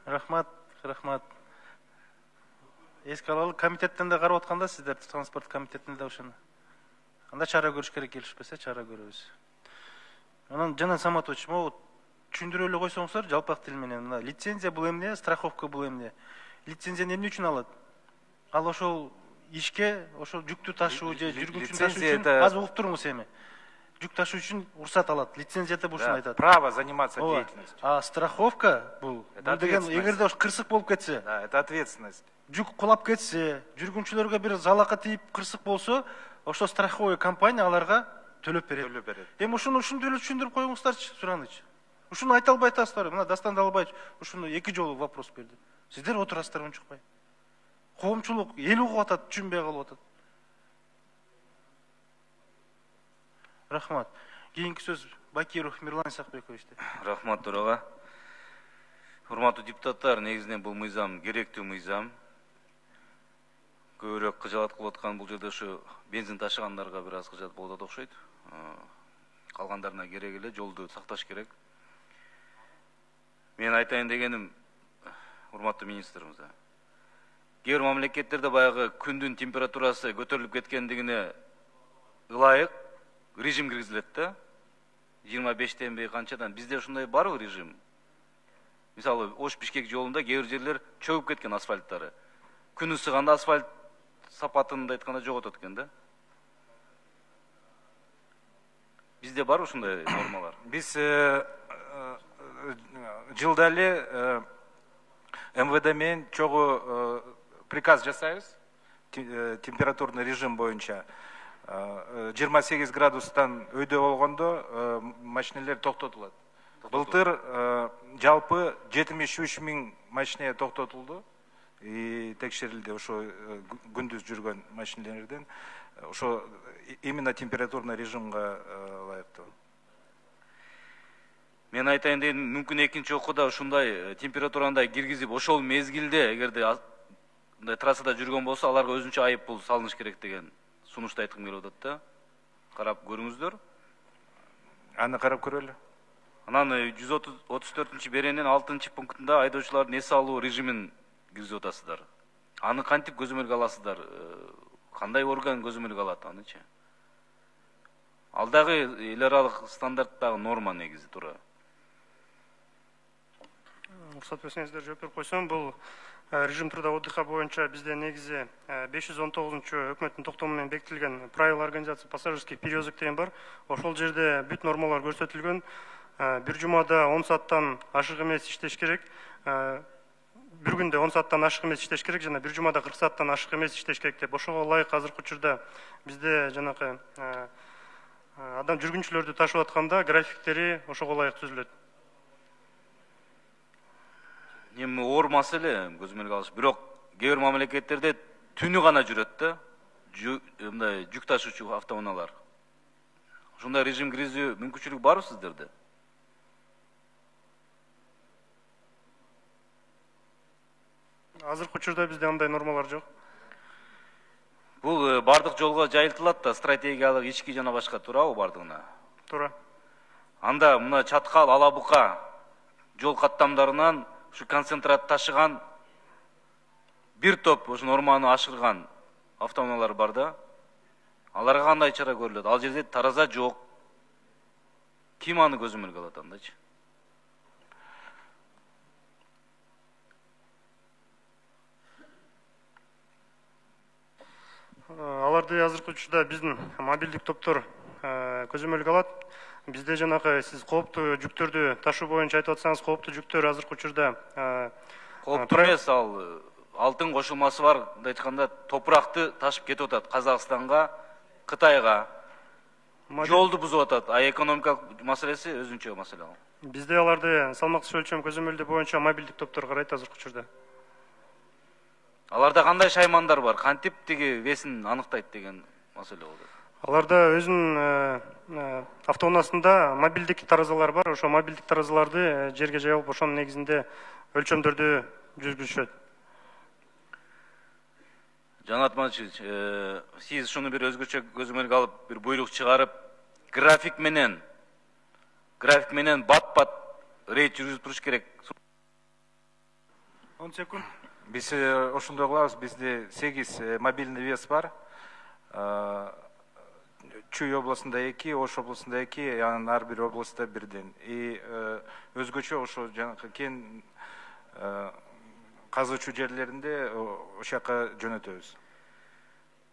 Рахмат, рахмат. Эске алалы, комитеттен да карап атканда сиздер транспорт комитетинде да ошону. Анда чара көрүш керек, келишпесе чара көрөбүз. Анан Жанат Саматович, могу түшүндүрө эле койсоңуздар жалпак тил менен. Мына лицензия бул эмне, страховка бул эмне? Лицензияны эмне үчүн алат? Ал ошол ишке, ошол жүктү ташуу же жүргүнчүн ташуу үчүн аз угуп туруңуз эми. Жүк ташуу үчүн уруксат алат. Лицензияда бул ушуну айтат. Право заниматься деятельностью. А страховка бул деген эгерде ош кырсык болуп кетсе, да, это ответственность. Жүк кулап кетсе, жүргүнчүлөргө бир залака тийип кырсык болсо, ошо страховой компания аларга төлөп берет. Төлөп берет. Эми ушуну ушундай эле түшүндүрүп коюңуздарчы, сураныч. Ушуну айта албай атасыздар. Мына Дастан Далбаевич ушуну эки жолу вопрос берди. Сиздер отурасыздар унчукпай. Коомчулук эл угуп атат, түшүнбөй калып атат. Рахмат. Кийинки сөз Бакиров Мирлан Исакбековичте. Рахмат төрага. Урматтуу депутаттар, негизинен бул мыйзам керектүү мыйзам. Көбүрөөк кыжаат кылып аткан бул жерде ушу бензин ташыгандарга бир аз кыжаат болуп атат окшойт. Калгандарына керек эле, жолду сакташ керек. Мен айтайын дегеним, урматтуу министр мырза. Кээ бир мамлекеттерде баягы күндүн температурасы көтөрүлүп кеткендигине ылайык режим киргизилет да. жыйырма бештен бери канчадан бизде ушундай барбы режим? Мисалы, Ош-Бишкек жолунда кээ бир жерлер чөгүп кеткен асфальттары. Күн ысыганда асфальт сапатында айтканда жоготот экен да. Бизде бар ушундай нормалар? Биз жылда эле МВД менен чогуу приказ жасайбыз. Температурный режим боюнча жыйырма сегиз градустан өйдө болгондо машинелер токтотулат. Былтыр жалпы жетимиш үч миң машина токтотулду. И текшерилди ошо күндүз жүргөн машинелерден. Ошо именно температурный режимге ылайыктуу. Мен айтайын дегеним, мүмкүн экинчи окууда ушундай температурандай киргизип, ошол мезгилде эгерде мындай трассада жүргөн болсо, аларга өзүнчө айып пул салыныш керек деген сунушту айткым келип атат да. Карап көрүңүздөр. Аны карап көрөлү. Анан жүз отуз төртүнчү беренин алтынчы пунктунда айдоочулардын эс алуу режимин киргизип атасыздар. Аны кантип көзөмөлгө аласыздар? Кандай орган көзөмөлгө алат анычы? Ал дагы эл аралык стандарттагы норма негизи туура. Уруксат берсеңиздер жооп берип койсом, бул режим труда отдыха боюнча бизде негизи беш жүз он тогузунчу өкмөттүн токтому менен бекитилген правила организации пассажирских перевозок деген бар. Ошол жерде бүт нормалар көрсөтүлгөн. Бир жумада он сааттан ашык эмес иштеш керек. Бир күндө он сааттан ашык эмес иштеш керек жана бир жумада кырк сааттан ашык эмес иштеш керек деп. Ошого ылайык азыркы учурда бизде жанакы адам жүргүнчүлөрдү ташып атканда графиктери ошого ылайык түзүлөт. Эми оор маселе көзөмөлгө алыш. Бирок кээ бир мамлекеттерде түнү гана жүрөт да. Мындай жүк ташуучу автоунаалар. Ушундай режим киргизүү мүмкүнчүлүк барбы сиздерде? Азыркы учурда бизде андай нормалар жок. Бул бардык жолго жайылтылат да, стратегиялык ички жана башка, туурабы бардыгына? Туура. Анда мына Чаткал, Алабука жол каттамдарынан ушу концентрат ташыган бир топ ушу норманы ашырган автоунаалар бар да. Аларга кандай чара көрүлөт? Ал жерде тараза жок. Ким аны көзөмөлгө алат андачы? Аларды азыркы учурда биздин мобилдик топтор көзөмөлгө алат. Бизде жанагы сиз кооптуу жүктөрдү ташуу боюнча айтып атсаңыз, кооптуу жүктөр азыркы учурда кооптуу эмес, ал алтын кошулмасы бар деп айтканда топуракты ташып кетип атат Казакстанга, Кытайга. Жолду бузуп атат. А экономикалык маселеси өзүнчө маселе ал. Бизде аларды салмактуу өлчөм көзөмөлдөө боюнча мобилдик топтор карайт азыркы учурда. Аларда кандай шаймандар бар? Кантип тиги весин аныктайт деген маселе болду. Аларда өзүнүн автоунаасында мобилдик таразалар бар. Ошо мобилдик таразаларды жерге жайып, ошонун негизинде өлчөмдөрдү жүргүзүшөт. Жанат Матчевич, сиз шуну бир өзгөчө көзөмөлгө алып, бир буйрук чыгарып, график менен, график менен бат-бат рейд жүргүзүп туруш керек. он секунд. Биз ошондой кылабыз. Бизде сегиз мобильный вес бар. Чүй областында эки, Ош областында эки, анан ар бир областта бирден. И өзгөчө ошо жанагы кен казуучу жерлеринде ошол жака жөнөтөбүз.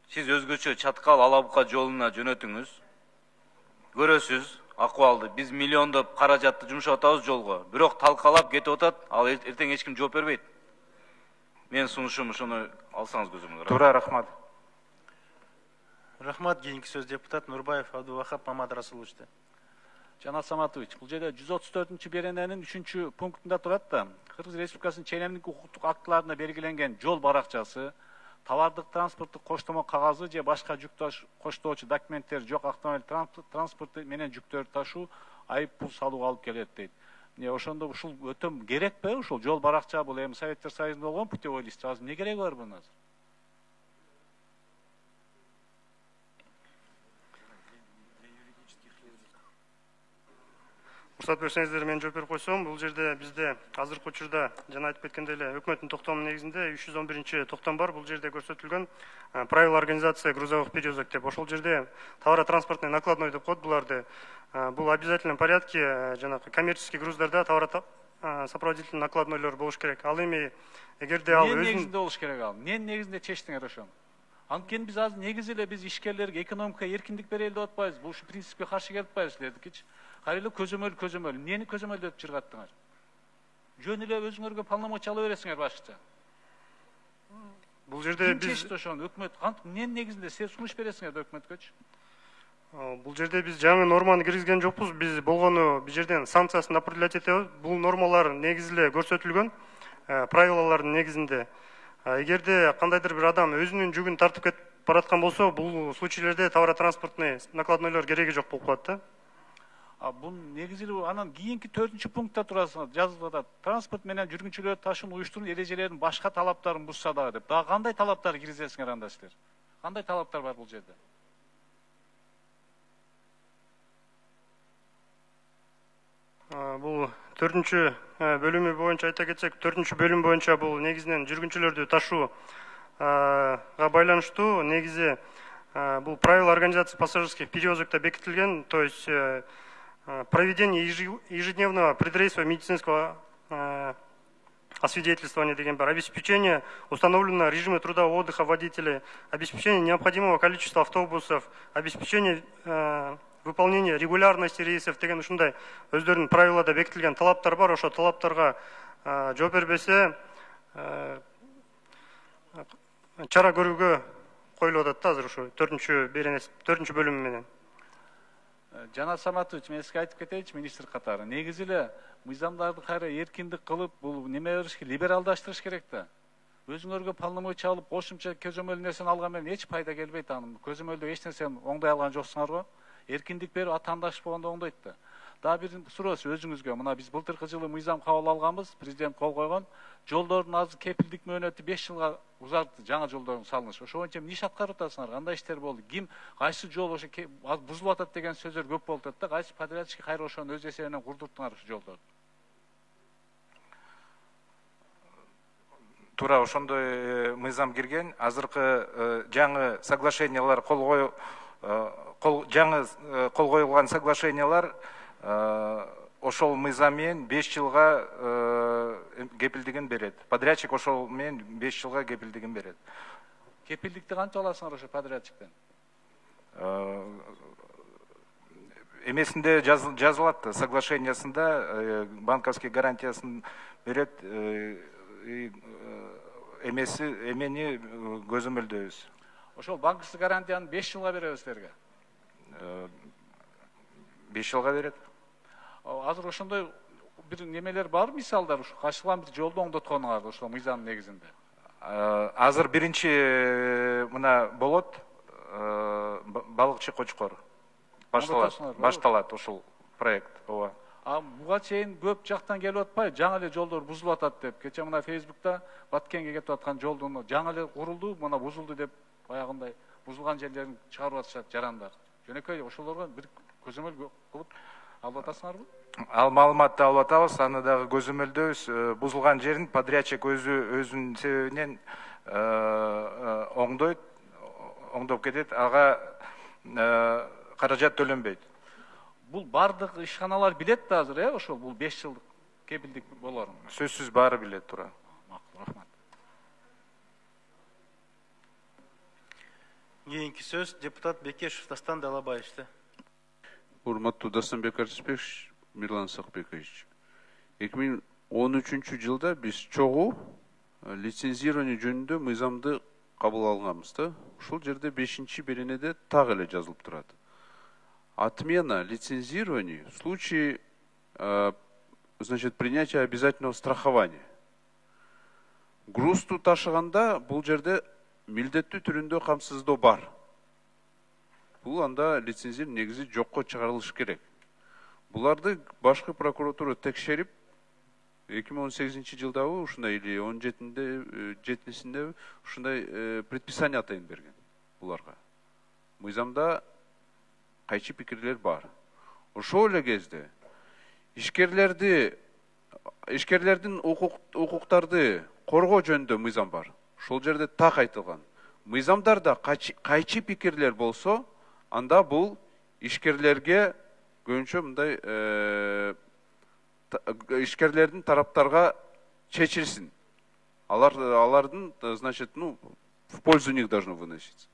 Сиз өзгөчө Чаткал Алабука жолуна жөнөтүңүз. Көрөсүз акыбалды. Биз миллиондоп каражатты жумшап атабыз жолго. Бирок талкалап кетип атат, ал эртең эч ким жооп бербейт. Мен сунушум ошону алсаңыз көзөмөлгө. Туура, рахмат. Рахмат. Кийинки сөз депутат Нурбаев Абдувахап Мамат Расуловичте. Жанат Саматович, бул жерде жүз отуз төртүнчү берененин үчүнчү пунктунда турат да, Кыргыз Республикасынын ченемдик укуктук актыларына белгиленген жол баракчасы, товардык транспорттук коштомо кагазы же башка жүк коштоочу документтер жок автомобиль транспорты менен жүктөрдү ташуу айып пул салууга алып келет дейт. Эмне ошондо ушул өтө керекпи? Ушул жол баракча бул эми Советтер Союзунда болгон путевой лист. Азыр эмне кереги бар bunun азыр? Уруксат берсеңиздер, мен жооп берип койсом, бул жерде бизде азыркы учурда жана айтып кеткендей эле өкмөттүн токтомунун негизинде үч жүз он биринчи токтом бар. Бул жерде көрсөтүлгөн правила организации грузовых перевозок деп. Ошол жерде товаротранспортный накладной деп коет буларды. Бул обязательном порядке жанагы коммерческий груздарда товар сопроводительный накладнойлор болуш керек. Ал эми эгерде ал өзүн негизинде болуш керек ал. Эмненин негизинде чечтиңер ошону? Анткени биз азыр негизи эле биз ишкерлерге экономикага эркиндик берели деп атпайбыз. Бул ушу принципке каршы келип атпайбыз силердикичи. Кайрылы көзөмөл көзөмөл. Эмнени көзөмөлдөп чыргаттыңар? Жөн эле өзүңөргө полномочия ала бересиңер башкача. Бул жерде биз чечти ошону өкмөт кантип эмненин негизинде силер сунуш бересиңер да өкмөткөчү? Бул жерде биз жаңы норманы киргизген жокпуз. Биз болгону бул жерден санкциясын определять этебиз. Бул нормалар негизи эле көрсөтүлгөн правилалардын негизинде. Эгерде кандайдыр бир адам өзүнүн жүгүн тартып кетип бараткан болсо, бул случайларда товаротранспортный накладнойлор кереги жок болуп калат да. А бул негизи анан кийинки төртүнчү пунктта турасыңар, жазылып атат. Транспорт менен жүргүнчүлөр ташууну уюштуруу эрежелеринин башка талаптарын бузса дагы деп. Дагы кандай талаптар киргизесиңер анда силер? Кандай талаптар бар бул жерде? Бул төртүнчү бөлүмү боюнча айта кетсек, төртүнчү бөлүм боюнча бул негизинен жүргүнчүлөрдү ташууга байланыштуу. Негизи бул правила организации пассажирских перевозок бекитилген, то есть проведение ежедневного предрейсового медицинского освидетельствования деген бар, обеспечение установленного режима труда и отдыха водителей, обеспечение необходимого количества автобусов, обеспечение выполнения регулярности рейсов деген ушундай өздөрүнүн правилада бекитилген талаптар бар. Ошо талаптарга жооп бербесе чара көрүүгө коюлуп атат да азыр ошо төртүнчү беренеси төртүнчү бөлүмү менен. Жанат Саматович, мен сизге айтып кетейинчи министр катары. Негизи эле мыйзамдарды кайра эркиндик кылып, бул неме бериш керек, либералдаштырыш керек да. Өзүңөргө полномочия алып, кошумча көзөмөл нерсени алган менен эч пайда келбейт анын. Көзөмөлдө эч нерсени оңдой алган жоксуңарбы? Эркиндик берип атаандаш болгондо оңдойт да. Дагы бир суроосу өзүңүзгө. Мына биз былтыркы жылы мыйзам кабыл алганбыз, президент кол койгон. Жолдордун азыр кепилдик мөөнөтү беш жылга узартты, жаңы жолдордун салынышы. Ошо боюнча эмне иш аткарып атасыңар? Кандай иштер болду? Ким кайсы жол ошо бузулуп атат деген сөздөр көп болуп атат да. Кайсы подрядчик кайра ошону өз эсебинен курдурттуңар ушу жолдорду? Туура ошондой мыйзам кирген. Азыркы жаңы соглашениялар кол кою жаңы кол коюлган соглашениялар ошол мыйзам менен беш жылга кепилдигин берет. Подрядчик ошол менен беш жылга кепилдигин берет. Кепилдикти канча аласыңар ошо подрядчиктен? Эмесинде жазылат, соглашениясында банковский гарантиясын берет, эмеси эмени көзөмөлдөйбүз. Ошол банковский гарантияны беш жылга беребиз силерге. беш жылга берет. Азыр ошондой бир немелер бар, мисалдар, ушу качылган бир жолду оңдотконуңарды ошол мыйзамдын негизинде. Азыр биринчи мына болот, балыкчы Кочкор. Башталат, башталат ушул проект. Ооба. А буга чейин көп жактан келип атпайбы? Жаңы эле жолдор бузулуп атат деп. Кече мына Фейсбукта Баткенге кетип аткан жолдун жаңы эле курулду, мына бузулду деп баягындай бузулган жерлерин чыгарып атышат жарандар. Жөнөкөй ошолорго бир көзөмөл кылып алып атасыңарбы? Ал маалыматты алып атабыз, аны дагы көзөмөлдөйбүз. Бузулган жерин подрядчик өзү өзүнүн себебинен оңдойт, оңдоп кетет, ага каражат төлөнбөйт. Бул бардык ишканалар билет да азыр, э, ошол бул беш жылдык кепилдик болорун. Сөзсүз баары билет тура. Макул, рахмат. Кийинки сөз депутат Бекешев Дастан Далабаевичте. Урматтуу Дастанбек Арсбекович, Мирлан Сакбекович. эки миң он үчүнчү жылда биз чогуу лицензирование жөнүндө мыйзамды кабыл алганбыз да. Ушул жерде бешинчи беренеде так эле жазылып турат. Отмена лицензирования в случае э, значит, принятия обязательного страхования. Грузду ташыганда бул жерде милдеттүү түрүндө камсыздоо бар. Бул анда лицензирование негизи жокко чыгарылышы керек. Буларды башкы прокуратура текшерип, эки миң он сегизинчи жылдагы ушундай или он жетинчисинде ушундай предписание атайын берген буларга. Мыйзамда кайчы пикирлер бар. Ошол эле кезде ишкерлерди ишкерлердин укуктарды коргоо жөнүндө мыйзам бар. Ошол жерде так айтылган. Мыйзамдарда кайчы пикирлер болсо, анда бул ишкерлерге көбүнчө мындай ишкерлердин тараптарга чечилсин. Алар алардын, значит, ну, в пользу них должно выноситься.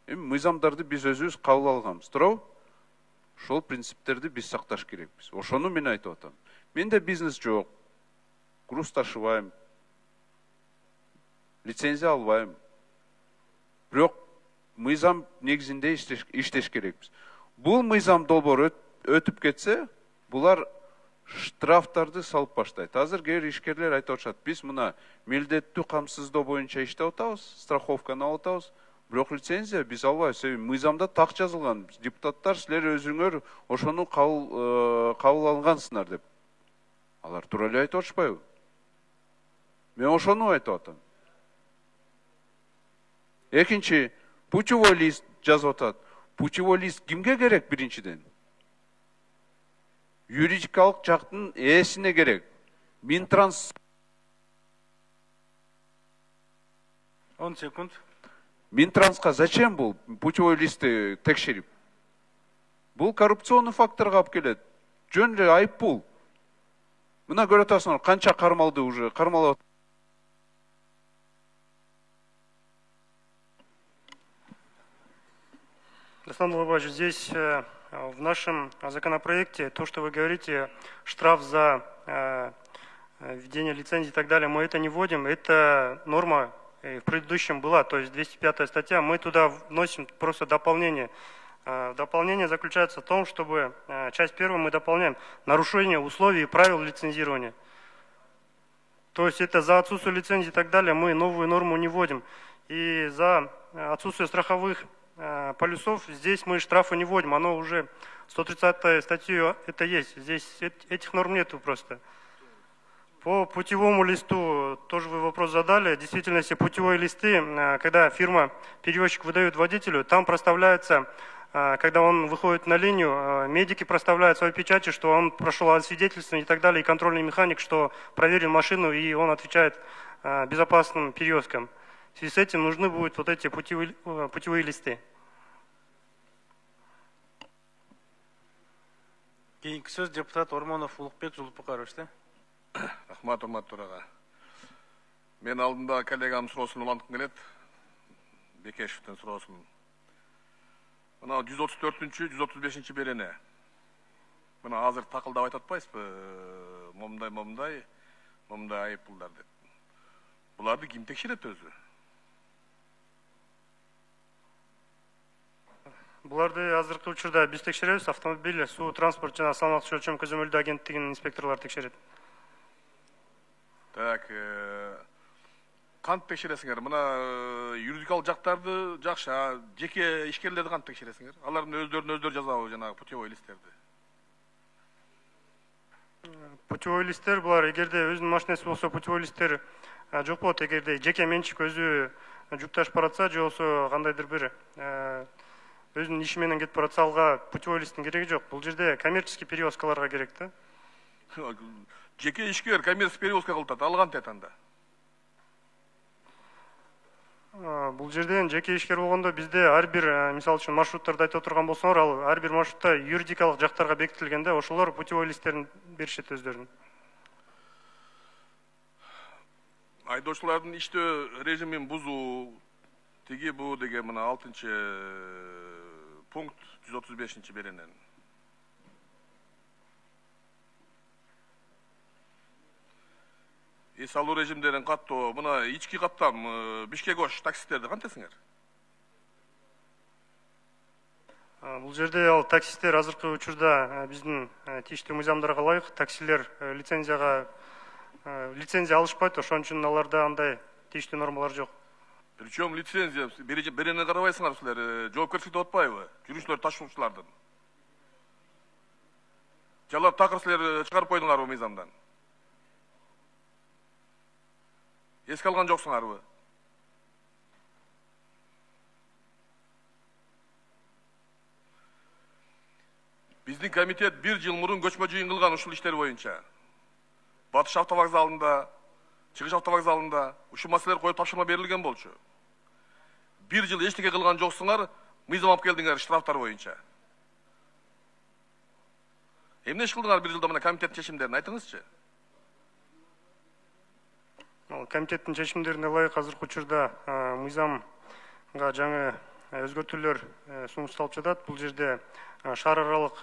Эми мыйзамдарды биз өзүбүз кабыл алганбыз, туурабы? Ошол принциптерди биз сакташ керекпиз. Ошону мен айтып атам. Менде бизнес жок. Груз ташыбайм. Лицензия албайм. Бирок мыйзам негизинде иштеш керекпиз. Бул мыйзам долбоор өтүп кетсе, булар штрафтарды салып баштайт. Азыр кээ бир ишкерлер айтып атышат, биз мына милдеттүү камсыздоо боюнча иштеп атабыз, страховканы алып атабыз, бирок лицензия биз албайбыз. Мыйзамда так жазылган. Депутаттар силер өзүңөр ошону кабыл алгансыңар деп. Алар туура эле айтып атышпайбы? Мен ошону айтып атам. Экинчи, путевой лист жазып атат. Путевой лист кимге керек биринчиден? Юридикалык жактын ээсине керек. Минтранс он секунд. Минтранска зачем бул путевой листти текшерип? Бул коррупционный факторго алып келет. Жөн эле айыппул. Мына көрүп атасыңар, канча кармалды уже, кармалап. Дастан Далабаевич, здесь в нашем законопроекте то, что вы говорите, штраф за э, введение лицензии и так далее, мы это не вводим. Это норма в предыдущем была, то есть двести пятая статья. Мы туда вносим просто дополнение. Э, дополнение заключается в том, чтобы э, часть первую мы дополняем нарушение условий и правил лицензирования. То есть это за отсутствие лицензии и так далее мы новую норму не вводим. И за отсутствие страховых полюсов здесь мы штрафы не вводим, оно уже сто тридцатой статьей это есть, здесь этих норм нету просто. По путевому листу тоже вы вопрос задали, в действительности путевые листы, когда фирма-перевозчик выдает водителю, там проставляется, когда он выходит на линию, медики проставляют свои печати, что он прошел освидетельствование и так далее, и контрольный механик, что проверил машину и он отвечает безопасным перевозкам. В связи с этим нужны будут вот эти путевые, путевые листы. Кийинки сөз депутат Ормонов Улукбек Жулпукаровичте. Рахмат, урматтуу төрага. Мен алдында коллегам суроосун уланткым келет. Бекешевдин суроосун. Мына жүз отуз төртүнчү, жүз отуз бешинчи берене. Мына азыр такылдап айтып атпайсызбы? Момундай, момундай, момундай айыппулдар деп. Буларды ким текшерет өзү? Буларды азыркы учурда биз текшеребиз. Автомобиль, суу, транспорт жана салмактуу өлчөм көзөмөлдөө агенттигинин инспекторлору текшерет. Так, кантип текшересиңер? Мына юридикалык жактарды жакшы, жеке ишкерлерди кантип текшересиңер? Алардын өздөрүнүн өздөрү жазабы жанагы путевой листтерди? Путевой листтер булар эгерде өзүнүн машинеси болсо путевой листтер жок болот. Эгерде жеке менчик өзү жүк ташып баратса, же болсо кандайдыр бир өзүнүн иши менен кетип баратса, алга путевой листтин кереги жок. Бул жерде коммерческий перевозкаларга керек да. Жеке ишкер коммерческий перевозка кылып атат, ал кантет анда? Бул жерден жеке ишкер болгондо бизде ар бир, мисалы үчүн маршруттарды айтып отурган болсоңор, ал ар бир маршрутта юридикалык жактарга бекитилген да, ошолор путевой листтерин беришет өздөрүнүн. Айдоочулардын иштөө режимин бузуу тиги бу деген мына алтынчы пункт жүз отуз бешинчи беренен. Эс алуу режимдерин каттоо, мына ички каттам Бишкек Ош таксисттерди кантесиңер? Бул жерде ал таксисттер азыркы учурда биздин тийиштүү мыйзамдарга ылайык таксилер лицензияга лицензия алышпайт, ошон үчүн аларда андай тийиштүү нормалар жок. Причем лицензия берени карабайсыңар силер, жоопкерчиликти отпайбы? Жүргүчүлөр ташуучулардын. Жалар такыр силер чыгарып койдуңарбы мыйзамдан? Эске алган жоксуңарбы? Биздин комитет бир жыл мурун көчмө жыйын кылган ушул иштер боюнча. Батыш автовокзалында, Чыгыш автовокзалында ушул маселелер коюп тапшырма берилген болчу. Бир жыл эчтеке кылган жоксуңар, мыйзам алып келдиңер штрафтар боюнча. Эмне иш кылдыңар бир жылда мына комитет чечимдерин айтыңызчы? Комитеттин чечимдерине ылайык азыркы учурда мыйзамга жаңы өзгөртүүлөр сунушталып жатат. Бул жерде шаар аралык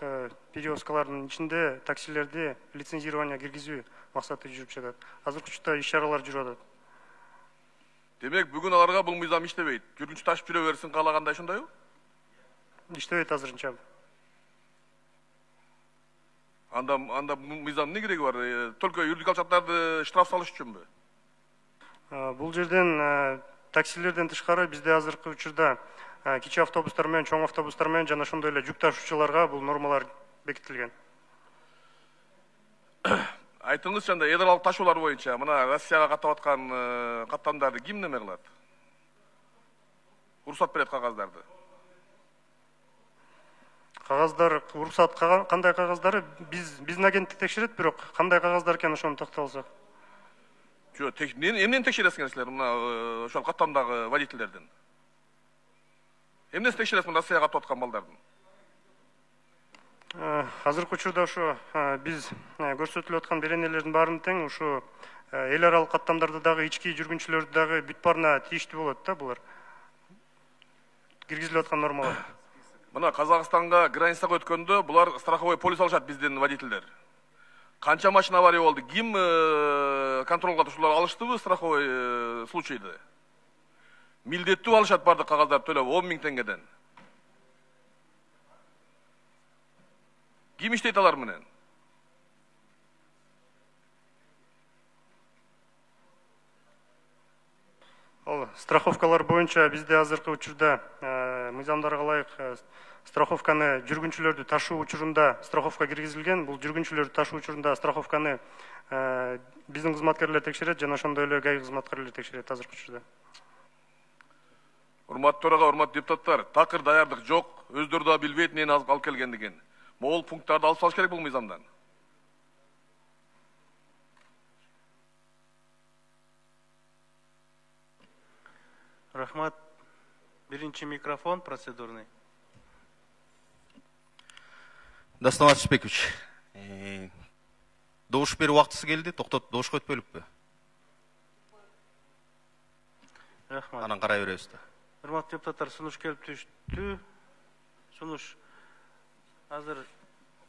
перевозкалардын ичинде таксилерди лицензирование киргизүү максаты жүрүп жатат. Азыркы учурда иш-чаралар жүрүп атат. Демек, бүгүн аларга бул мыйзам иштебейт. Жүргүнчү ташып жүрө берсин каалагандай ошондойбу? Иштебейт азырынча. Анда анда мыйзам эмне кереги бар? Только юридикалык жактарды штраф салыш үчүнбү? Бул жерден таксилерден тышкары бизде азыркы учурда кичи автобустар менен, чоң автобустар менен жана ошондой эле жүк ташуучуларга бул нормалар бекитилген. Айтыңызчы, анда эдералык ташуулар боюнча мына Россияга каттап аткан каттамдарды ким неме кылат? Уруксат берет кагаздарды. Кагаздар, уруксат кандай кагаздары биз биздин агенттик текшерет, бирок кандай кагаздар экенин ошону токтолсок. Жок, эмнени текшересиңер силер мына ошол каттамдагы водительдердин? Эмнесин текшересиңер Россияга каттап аткан балдардын? Азыркы учурда ушу биз көрсөтүлүп аткан беренелердин баарын тең ушу эл аралык каттамдарды дагы ички жүргүнчүлөрдү дагы бүт баарына тийиштүү болот да булар. Киргизилип аткан нормалар. Мына Казакстанга границага өткөндө булар страховой полис алышат биздин водительдер. Канча машина авария болду? Ким контролго ушулар алыштыбы страховой случайды? Милдеттүү алышат бардык кагаздарды төлөп он миң теңгеден. Ким иштейт алар менен? Ал страховкалар боюнча бизде азыркы учурда мыйзамдарга ылайык страховканы жүргүнчүлөрдү ташуу учурунда страховка киргизилген. Бул жүргүнчүлөрдү ташуу учурунда страховканы биздин кызматкерлер текшерет жана ошондой эле ГАИ кызматкерлери текшерет азыркы учурда. Урматтуу төрага, урматтуу депутаттар, такыр даярдык жок, өздөрү да билбейт эмнени алып келгендигин. Могул пункттарды алып салыш керек бул мыйзамдан. Рахмат. Биринчи микрофон процедурный. Дастан Атышбекович, добуш берүү убактысы келди, токтоп добушка өтпөйлүкпү? Рахмат. Анан карай беребиз да. Урматтуу депутаттар, сунуш келип түштү. Сунуш азыр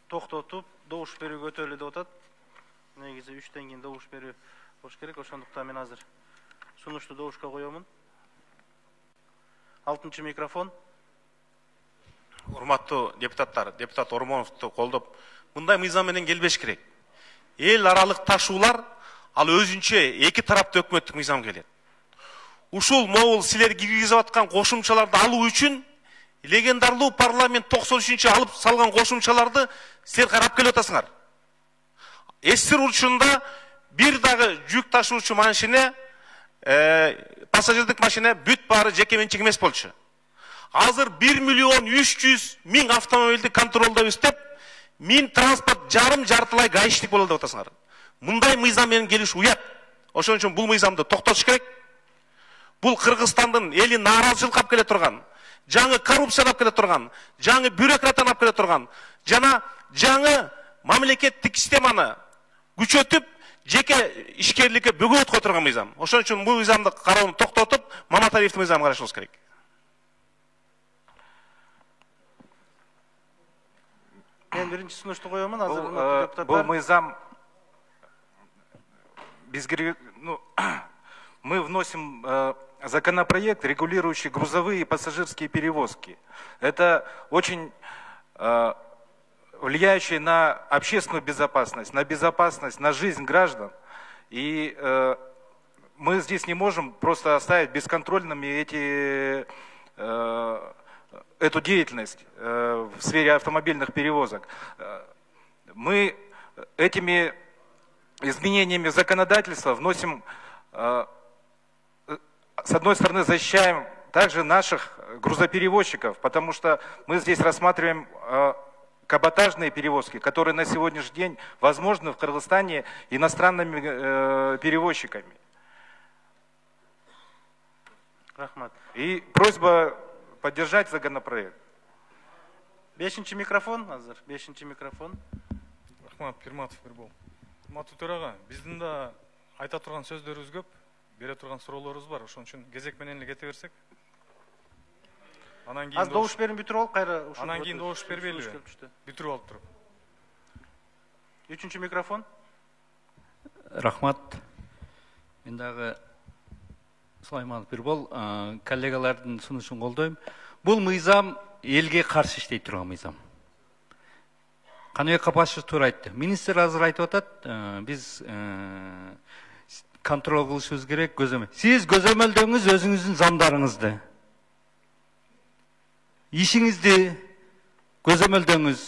токтотуп, добуш берүүгө өтөлү деп атат. Негизи үчтөн кийин добуш берүү болуш керек. Ошондуктан мен азыр сунушту добушка коёмун. Алтынчы микрофон. Урматтуу депутаттар, депутат Ормоновду колдоп, мындай мыйзам менен келбеш керек. Эл аралык ташуулар ал өзүнчө эки тараптуу өкмөттүк мыйзам келет. Ушул могул силер киргизип аткан кошумчаларды алуу үчүн легендарлуу парламент токсон үчүнчү алып салган кошумчаларды силер карап келип атасыңар. Эсир учурунда бир дагы жүк ташуучу машина, пассажирдик машина бүт баары жеке менчик эмес болчу. Азыр бир миллион үч жүз миң автомобилди контролдойбуз деп, миң транспорт жарым жартылай гаишник болот деп атасыңар. Мындай мыйзам менен келиш уят. Ошон үчүн бул мыйзамды токтотуш керек. Бул Кыргызстандын элин нааразычылыкка алып келе турган, жаңы коррупцияга алып келе турган, жаңы бюрократтан алып келе турган, жана жаңы мамлекеттик системаны күчөтүп, жеке ишкерликке бөгөт кое турган мыйзам. Ошон үчүн бул мыйзамды кароону токтотуп, Маматалиевдин мыйзамын карашыбыз керек. Мен биринчи сунушту коёмун, азыр депутаттар. Бул мыйзам бизге, ну, мы вносим э, законопроект, регулирующий грузовые и пассажирские перевозки. Это очень э, влияющий на общественную безопасность, на безопасность, на жизнь граждан. И э, мы здесь не можем просто оставить бесконтрольными эти, э, эту деятельность э, в сфере автомобильных перевозок. Мы этими изменениями законодательства вносим, э, с одной стороны, защищаем также наших грузоперевозчиков, потому что мы здесь рассматриваем э, каботажные перевозки, которые на сегодняшний день возможны в Кыргызстане иностранными э, перевозчиками. Рахмат. И просьба поддержать законопроект. Бешинчи микрофон, азыр, бешинчи микрофон. Рахмат, Пирматов Мирбол. Урматтуу төрага, биздин да айта турган сөздөрүбүз көп, бере турган суроолорубуз бар. Ошон үчүн кезек менен эле кете берсек. Анан кийин аз добуш берип бүтүрүп алып, кайра ушул. Анан кийин добуш бербейлиби? Бүтүрүп алып туруп. Үчүнчү микрофон. Рахмат. Мен дагы Сулайманов Бирбол, коллегалардын сунушун колдойм. Бул мыйзам элге каршы иштей турган мыйзам. Каныбек Капашев туура айтты. Министр азыр айтып атат, биз контроль кылышыбыз керек, көзөмөл. Сиз көзөмөлдөңүз өзүңүздүн замдарыңызды. Ишиңизди көзөмөлдөңүз.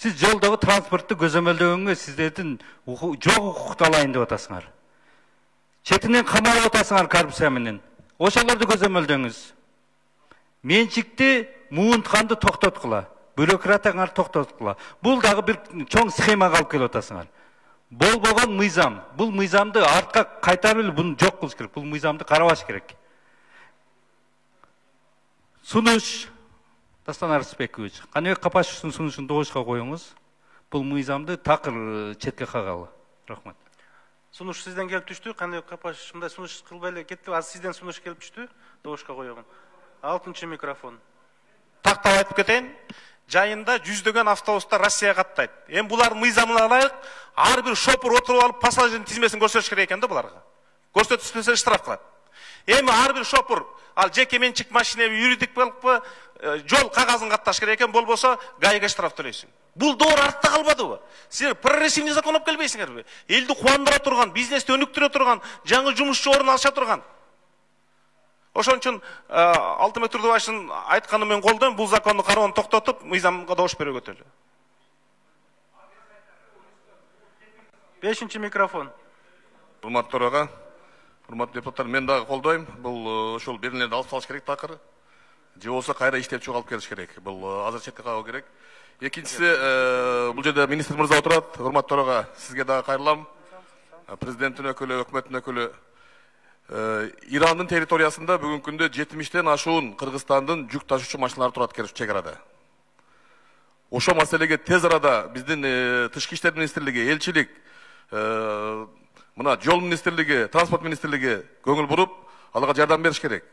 Сиз жолдогу транспортту көзөмөлдөгөнгө сиздердин жок укукту алайын деп атасыңар. Четинен камалып атасыңар коррупция менен. Ошолорду көзөмөлдөңүз. Менчикти муунтканды токтоткула. Бюрократаңар токтоткула. Бул дагы бир чоң схемага алып келип атасыңар. Болбогон мыйзам. Бул мыйзамды артка кайтарып эле буну жок кылыш керек. Бул мыйзамды карабаш керек. Сунуш Дастан Арысбекович, Каныбек Капашевдин сунушун добушка коюңуз. Бул мыйзамды такыр четке кагалы. Рахмат. Сунуш сизден келип түштү. Каныбек Капашев мындай сунуш кылбай эле кетти. Азыр сизден сунуш келип түштү. Добушка коёмун. Алтынчы микрофон. Тактап айтып кетейин. Жайында жүздөгөн автобустар Россияга каттайт. Эми булар мыйзамына ылайык ар бир шопур отуруп алып пассажирдин тизмесин көрсөтүш керек экен да буларга. Көрсөтүшпөсө штраф кылат. Эми ар бир шопур ал жеке менчик машинеби, юридик болупу, жол кагазын катташ керек экен, болбосо ГАИга штраф төлөйсүң. Бул доор артта калбадыбы? Силер прогрессивный закон алып келбейсиңерби? Элди кубандыра турган, бизнести өнүктүрө турган, жаңы жумушчу орун алыша турган. Ошон үчүн Алтынбек Турдубаевдин айтканын мен колдойм, бул законду кароону токтотуп, мыйзамга добуш берүүгө өтөлү. Бешинчи микрофон. Урматтуу төрага, урматтуу депутаттар, мен дагы колдойм. Бул ошол берилерди алып салыш керек такыр. Же болсо кайра иштеп чыгып алып келиш керек. Бул азыр четке кагуу керек. Экинчиси, бул жерде министр мырза отурат. Урматтуу төрага, сизге дагы кайрылам. Президенттин өкүлү, өкмөттүн өкүлү. Ирандын территориясында бүгүнкү күндө жетимиштен ашуун Кыргызстандын жүк ташуучу машиналары турат экен чек арада. Ошол маселеге тез арада биздин Тышкы иштер министрлиги, элчилик, мына жол министрлиги, транспорт министрлиги көңүл буруп, аларга жардам бериш керек.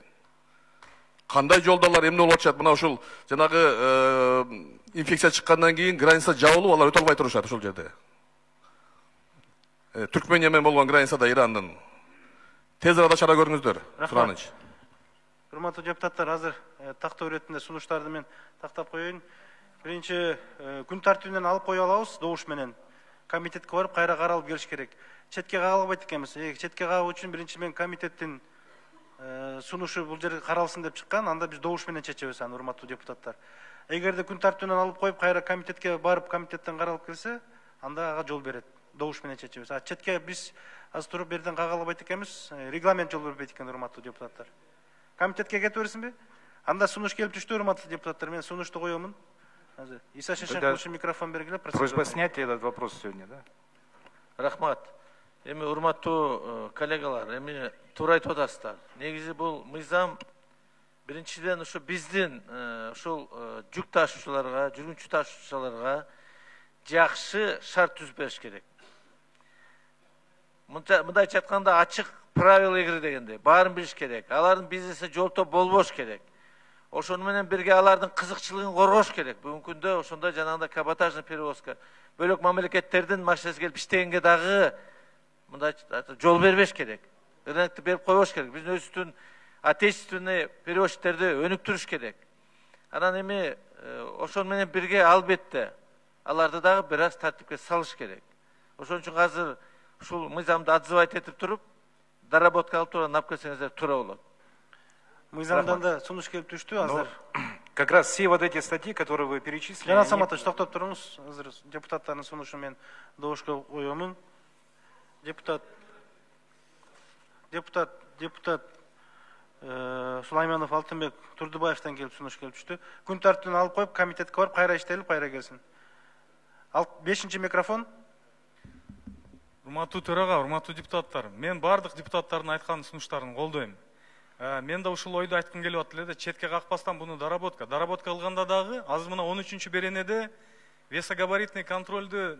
кандай жолдалар эмне болуп атышат? Мына ушул жанагы инфекция чыккандан кийин граница жабылып, алар өтө албай турушат ошол жерде. Түркмения менен болгон границада Ирандын. Тез арада чара көрүңүздөр. Сураныч. Урматтуу депутаттар, азыр тактоо иретинде сунуштарды мен тактап коеюн. Биринчи күн тартибинен алып кое алабыз добуш менен. Комитетке барып кайра каралып келиш керек. Четке кагылбайт экенбиз. Четке кагуу үчүн биринчи мен комитеттин сунушу бул жерге каралсын деп чыккан, анда биз добуш менен чечебиз аны, урматтуу депутаттар. Эгерде күн тартибинен алып коюп кайра комитетке барып комитеттен каралып келсе, анда ага жол берет. Добуш менен чечебиз. А четке биз азыр туруп берден кагалбайт экенбиз. Регламент жол бербейт экен, урматтуу депутаттар. Комитетке кетип берсинби? Анда сунуш келип түштү, урматтуу депутаттар. Мен сунушту коёмун. Азыр Иса Шешенкович микрофон бергиле. Просьба снять этот вопрос сегодня, да? Рахмат. Эми урматтуу коллегалар, эми туура айтып атасыздар. Негизи бул мыйзам биринчиден ушу биздин ушул жүк ташуучуларга, жүргүнчү ташуучуларга жакшы шарт түзүп бериш керек. Мындайча айтканда ачык правила игры дегендей, баарын билиш керек. Алардын бизнеси жолто болбош керек. Ошону менен бирге алардын кызыкчылыгын коргош керек. Бүгүнкү күндө ошондой жанагындай каботажный перевозка, бөлөк мамлекеттердин машинасы келип иштегенге дагы мындай жол бербеш керек. Рынокты берип койбош керек. Биздин өзүбүздүн отечественный перевозчиктерди өнүктүрүш керек. Анан эми ошону менен бирге албетте аларды дагы бир аз тартипке салыш керек. Ошон үчүн азыр ушул мыйзамды отзывать этип туруп, доработка алып туруп алып келсеңиздер туура болот. Мыйзамдан да сунуш келип түштү азыр. Как раз все вот эти статьи, которые вы перечислили. Жанат Саматович, токтоп туруңуз. Азыр депутаттардын сунушу мен добушка коёмун. Депутат депутат депутат Сулайманов Алтынбек Турдубаевтан келип сунуш келип түштү. Күн тартибинен алып коюп комитетке барып кайра иштелип кайра келсин. бешинчи микрофон. Урматтуу төрага, урматтуу депутаттар, мен бардык депутаттардын айткан сунуштарын колдойм. Мен да ушул ойду айткым келип атты эле, четке какпастан буну доработка. Доработка кылганда дагы азыр мына он үчүнчү беренеде весогабаритный контролду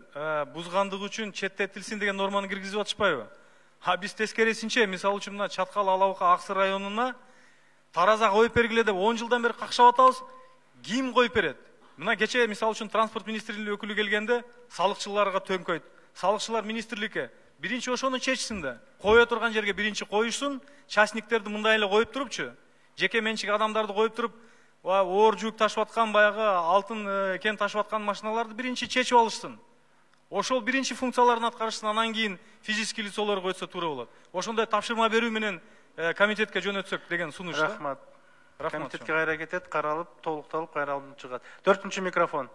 бузгандыгы үчүн четтетилсин деген норманы киргизип атышпайбы? А биз тескерисинче, мисалы үчүн мына Чаткал, Алабука, Аксы районуна тараза коюп бергиле деп он жылдан бери какшап атабыз. Ким коюп берет? Мына кече мисалы үчүн транспорт министрлигинин өкүлү келгенде салыкчыларга төңкөйт. Салыкчылар министрликке биринчи ошону чечсин да. Кое турган жерге биринчи коюшсун, частниктерди мындай эле коюп турупчу. Жеке менчик адамдарды коюп туруп, оор жүк ташып аткан баягы алтын кен ташып аткан машиналарды биринчи чечип алышсын. Ошол биринчи функцияларын аткарышсын, анан кийин физический лицолор койсо туура болот. Ошондой тапшырма берүү менен комитетке жөнөтсөк деген сунуш. Рахмат. Комитетке кайра кетет, каралып, толукталып кайра алынып чыгат. төртүнчү микрофон.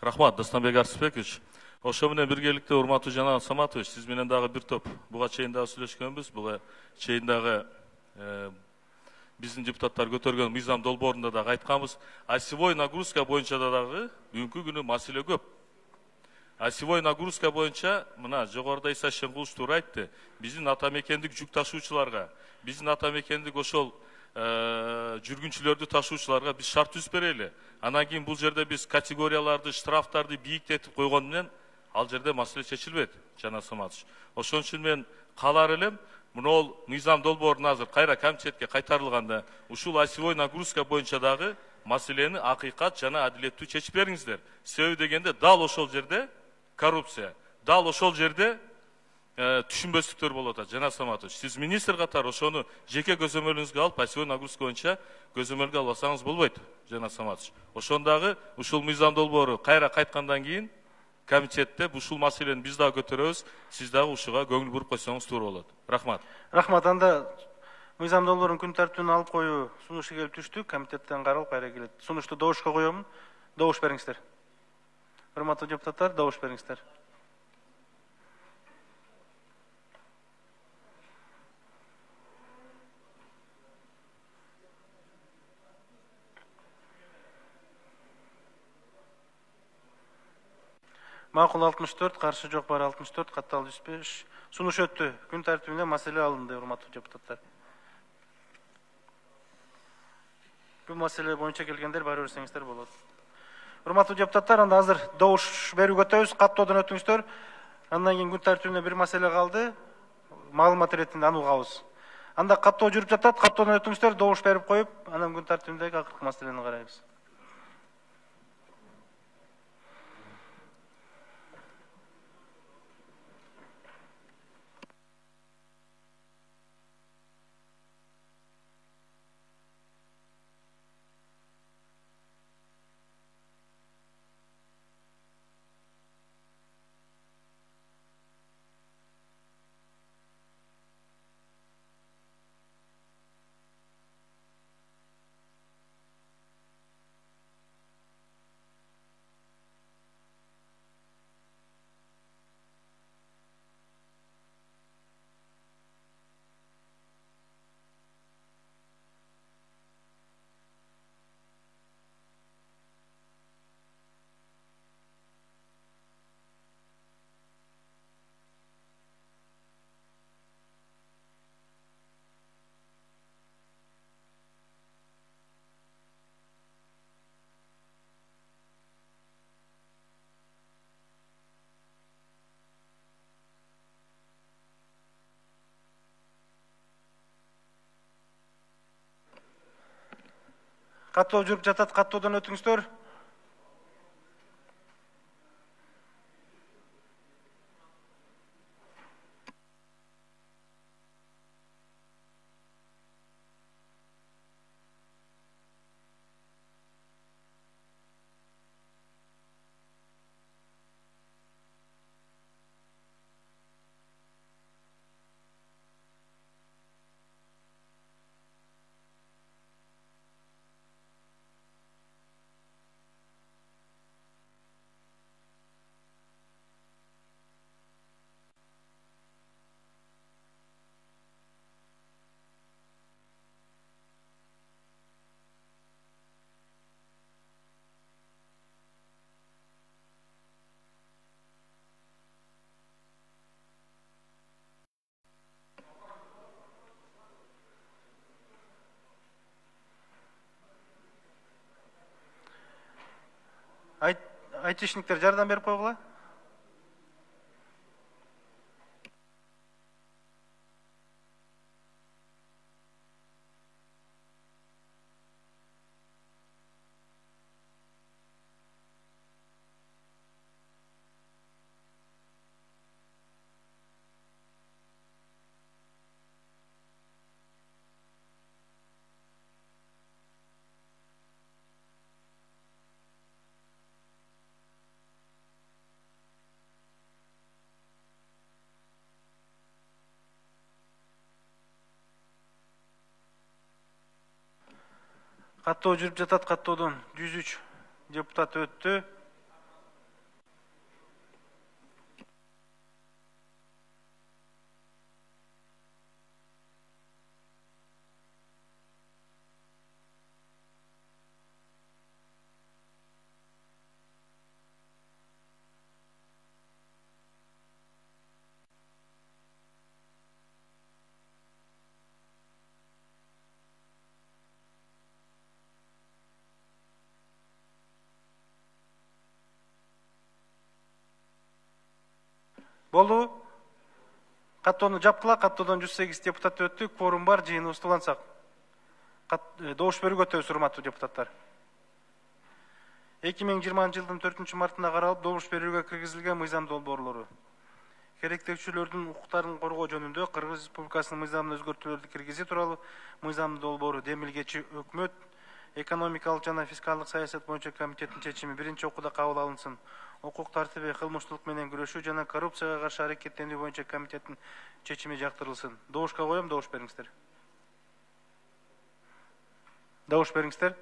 Рахмат, Дастанбек Арсызбекович. Ошо менен биргеликте урматтуу Жанат Саматович, сиз менен дагы бир топ буга чейин дагы сүйлөшкөнбүз. Буга чейин дагы биздин депутаттар көтөргөн мыйзам долбоорунда дагы айтканбыз. Осевой нагрузка боюнча дагы бүгүнкү күнү маселе көп. Осевой нагрузка боюнча мына жогоруда Иса Шенгулович туура айтты. Биздин ата мекендик жүк ташуучуларга, биздин ата мекендик ошол жүргүнчүлөрдү ташуучуларга биз шарт түзүп берели. Анан кийин бул жерде биз категорияларды, штрафтарды бийиктетип койгон менен ал жерде маселе чечилбейт, Жанат Саматович. Ошон үчүн мен каалар элем, мынол мыйзам долбоорун азыр кайра комитетке кайтарылганда, ушул осевой нагрузка боюнча дагы маселени акыйкат жана адилеттүү чечип бериңиздер. Себеби дегенде дал ошол жерде коррупция, дал ошол жерде түшүнбөстүктөр болуп атат. Жанат Саматович, сиз министр катары ошону жеке көзөмөлүңүзгө алып, осевой нагрузка боюнча көзөмөлгө албасаңыз болбойт, Жанат Саматович. Ошондагы ушул мыйзам долбоору кайра кайткандан кийин комитетте ушул маселени биз дагы көтөрөбүз, сиз дагы ушуга көңүл буруп койсоңуз туура болот. Рахмат. Рахмат. Анда мыйзам долбоорун күн тартибине алып коюу сунушу келип түштү, комитеттен каралып кайра келет. Сунушту добушка коёмун. Добуш бериңиздер. Урматтуу депутаттар, добуш бериңиздер. Макул алтымыш төрт, каршы жок бар алтымыш төрт, катталып жүз беш. Сунуш өттү. Күн тартибине маселе алынды, урматтуу депутаттар. Бул маселе боюнча келгендер бара берсеңиздер болот. Урматтуу депутаттар, анда азыр добуш берүүгө өтөбүз, каттоодон өтүңүздөр. Андан кийин күн тартибине бир маселе калды. Маалымат иретинде аны угабыз. Анда каттоо жүрүп жатат, каттоодон өтүңүздөр, добуш берип коюп, анан күн тартибиндеги акыркы маселени карайбыз. Каттоо жүрүп жатат, каттоодон өтүңүздөр. Айтышниктер жардам берип койгула. Каттоо жүрүп жатат, каттоодон жүз үч депутат өттү. Болду. Каттоону жапкыла, каттоодон жүз сегиз депутат өттү, кворум бар, жыйыныбыз улансак. Добуш берүүгө өтөбүз, урматтуу депутаттар. эки миң жыйырманчы жылдын төртүнчү мартында каралып, добуш берүүгө киргизилген мыйзам долбоорлору. Керектөөчүлөрдүн укуктарын коргоо жөнүндө Кыргыз Республикасынын мыйзамына өзгөртүүлөрдү киргизүү тууралуу мыйзам долбоору демилгечи өкмөт экономикалык жана фискалдык саясат боюнча комитеттин чечими биринчи окууда кабыл алынсын. Укук тартиби, кылмыштуулук менен күрөшүү жана коррупцияга каршы аракеттенүү боюнча комитеттин чечими жактырылсын. Добушка коем, добуш бериңиздер. Добуш бериңиздер.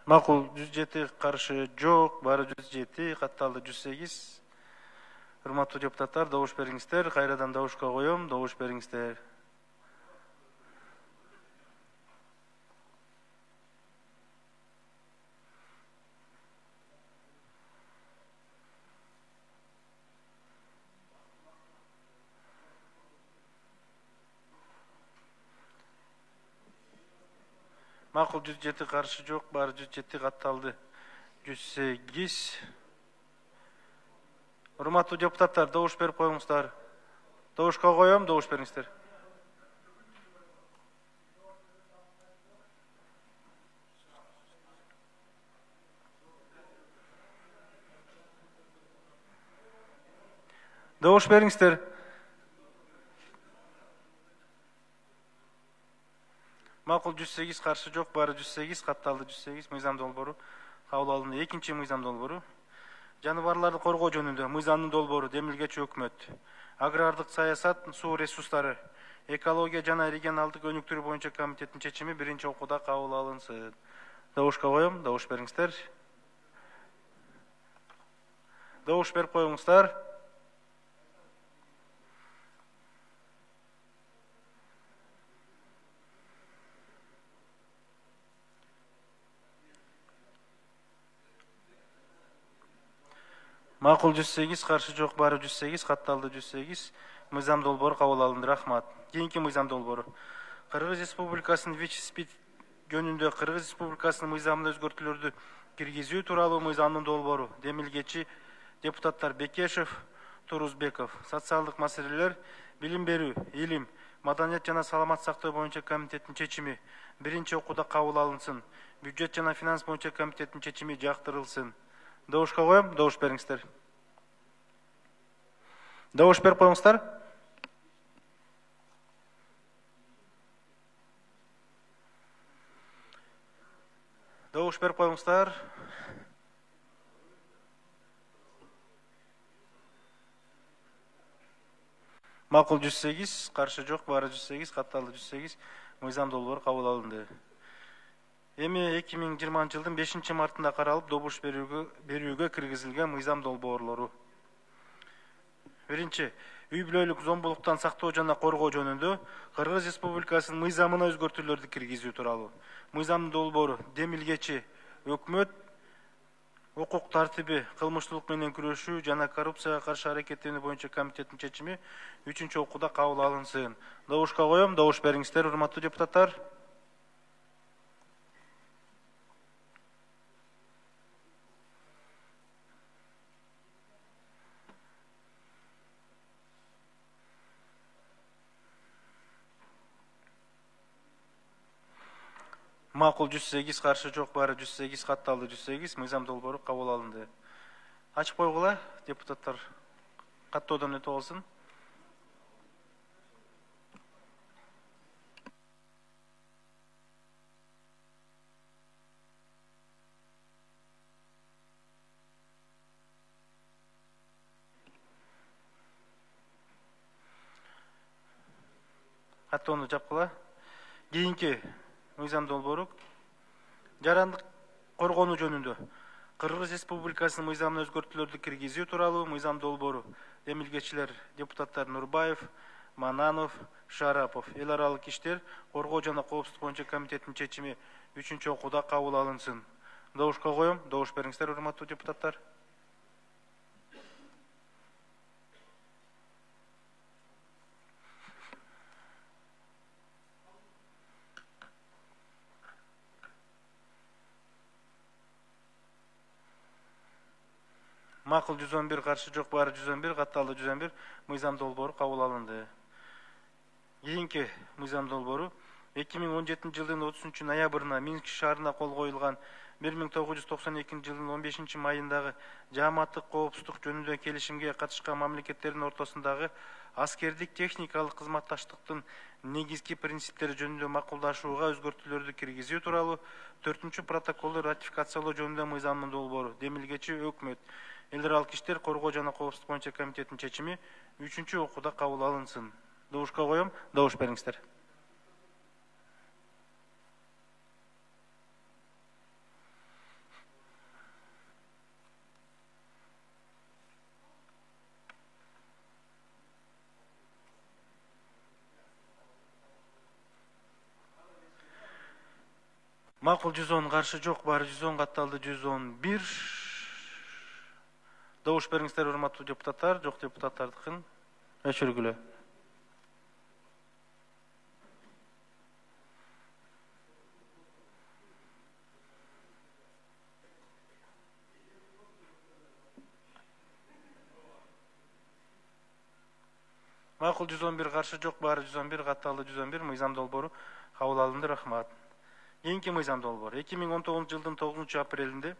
Макул, жүз жети каршы жок, баары жүз жети, катталды жүз сегиз. Урматтуу депутаттар, добуш бериңиздер. Кайрадан добушка коем, добуш бериңиздер. Макул жүз жети, каршы жок, баары жүз жети, катталды жүз сегиз. Урматтуу депутаттар, добуш берип коюңуздар. Добушка коем, добуш бериңиздер. Добуш бериңиздер. Макул жүз сегиз, каршы жок, баары жүз сегиз, катталды жүз сегиз. Мыйзам долбоору кабыл алынды. Экинчи мыйзам долбоору. Жаныбарларды коргоо жөнүндө мыйзамдын долбоору демилгечи өкмөт. Агрардык саясат, суу ресурстары, экология жана регионалдык өнүктүрүү боюнча комитеттин чечими биринчи окууда кабыл алынсын. Добушка коем, добуш бериңиздер. Добуш берип коюңуздар. Макул жүз сегиз, каршы жок, баары жүз сегиз, катталды жүз сегиз. Мыйзам долбоору кабыл алынды. Рахмат. Кийинки мыйзам долбоору. Кыргыз Республикасынын ВИЧ-СПИД жөнүндө Кыргыз Республикасынын мыйзамына өзгөртүүлөрдү киргизүү тууралуу мыйзамдын долбоору. Демилгечи депутаттар Бекешев, Турузбеков. Социалдык маселелер, билим берүү, илим, маданият жана саламат сактоо боюнча комитеттин чечими биринчи окууда кабыл алынсын. Бюджет жана финанс боюнча комитеттин чечими жактырылсын. Добушка коем, добуш бериңиздер. Добуш берип коюңуздар. Добуш берип коюңуздар. Макул жүз сегиз, каршы жок, баары жүз сегиз, катталды жүз сегиз. Мыйзам долбоору кабыл алынды. Эми эки миң жыйырманчы жылдын бешинчи мартында каралып, добуш берүүгө, берүүгө киргизилген мыйзам долбоорлору. Биринчи, үй бүлөлүк зомбулуктан сактоо жана коргоо жөнүндө Кыргыз Республикасынын мыйзамына өзгөртүүлөрдү киргизүү тууралуу. Мыйзамдын долбоору демилгечи өкмөт укук тартиби, кылмыштуулук менен күрөшүү жана коррупцияга каршы аракеттенүү боюнча комитеттин чечими үчүнчү окууда кабыл алынсын. Добушка коем, добуш бериңиздер, урматтуу депутаттар. Макул жүз сегиз, каршы жок, баары жүз сегиз, катталды жүз сегиз. Мыйзам долбоору кабыл алынды. Ачык койгула, депутаттар каттоодон өтүп алсын. Каттоону жапкыла. Кийинки мыйзам долбоору жарандык коргонуу жөнүндө Кыргыз Республикасынын мыйзамына өзгөртүүлөрдү киргизүү тууралуу мыйзам долбоору. Демилгечилер депутаттар Нурбаев, Мананов, Шарапов. Эл аралык иштер коргоо жана коопсуздук боюнча комитеттин чечими үчүнчү окууда кабыл алынсын. Добушка коем, добуш бериңиздер, урматтуу депутаттар. Макул жүз он бир, каршы жок, баары жүз он бир, катталды жүз он бир. Мыйзам долбоору кабыл алынды. Кийинки мыйзам долбоору эки миң он жетинчи жылдын отузунчу ноябрына Минск шаарына кол коюлган бир миң тогуз жүз токсон экинчи жылдын он бешинчи майындагы жааматтык коопсуздук жөнүндө келишимге катышкан мамлекеттердин ортосундагы аскердик техникалык кызматташтыктын негизги принциптери жөнүндө макулдашууга өзгөртүүлөрдү киргизүү тууралуу төртүнчү протоколду ратификациялоо жөнүндө мыйзамдын долбоору. Демилгечи өкмөт эл аралык иштер коргоо жана коопсуздук боюнча комитеттин чечими үчүнчү окууда кабыл алынсын. Добушка коем, добуш бериңиздер. Макул жүз он, каршы жок, баары жүз он, катталды жүз он бир. Добуш бериңиздер, урматтуу депутаттар, жок депутаттардыкын өчүргүлө. Макул жүз он бир, каршы жок, баары жүз он бир, катталды жүз он бир. Мыйзам долбоору кабыл алынды. Рахмат. Кийинки мыйзам долбоору эки миң он тогузунчу жылдын тогузунчу апрелинде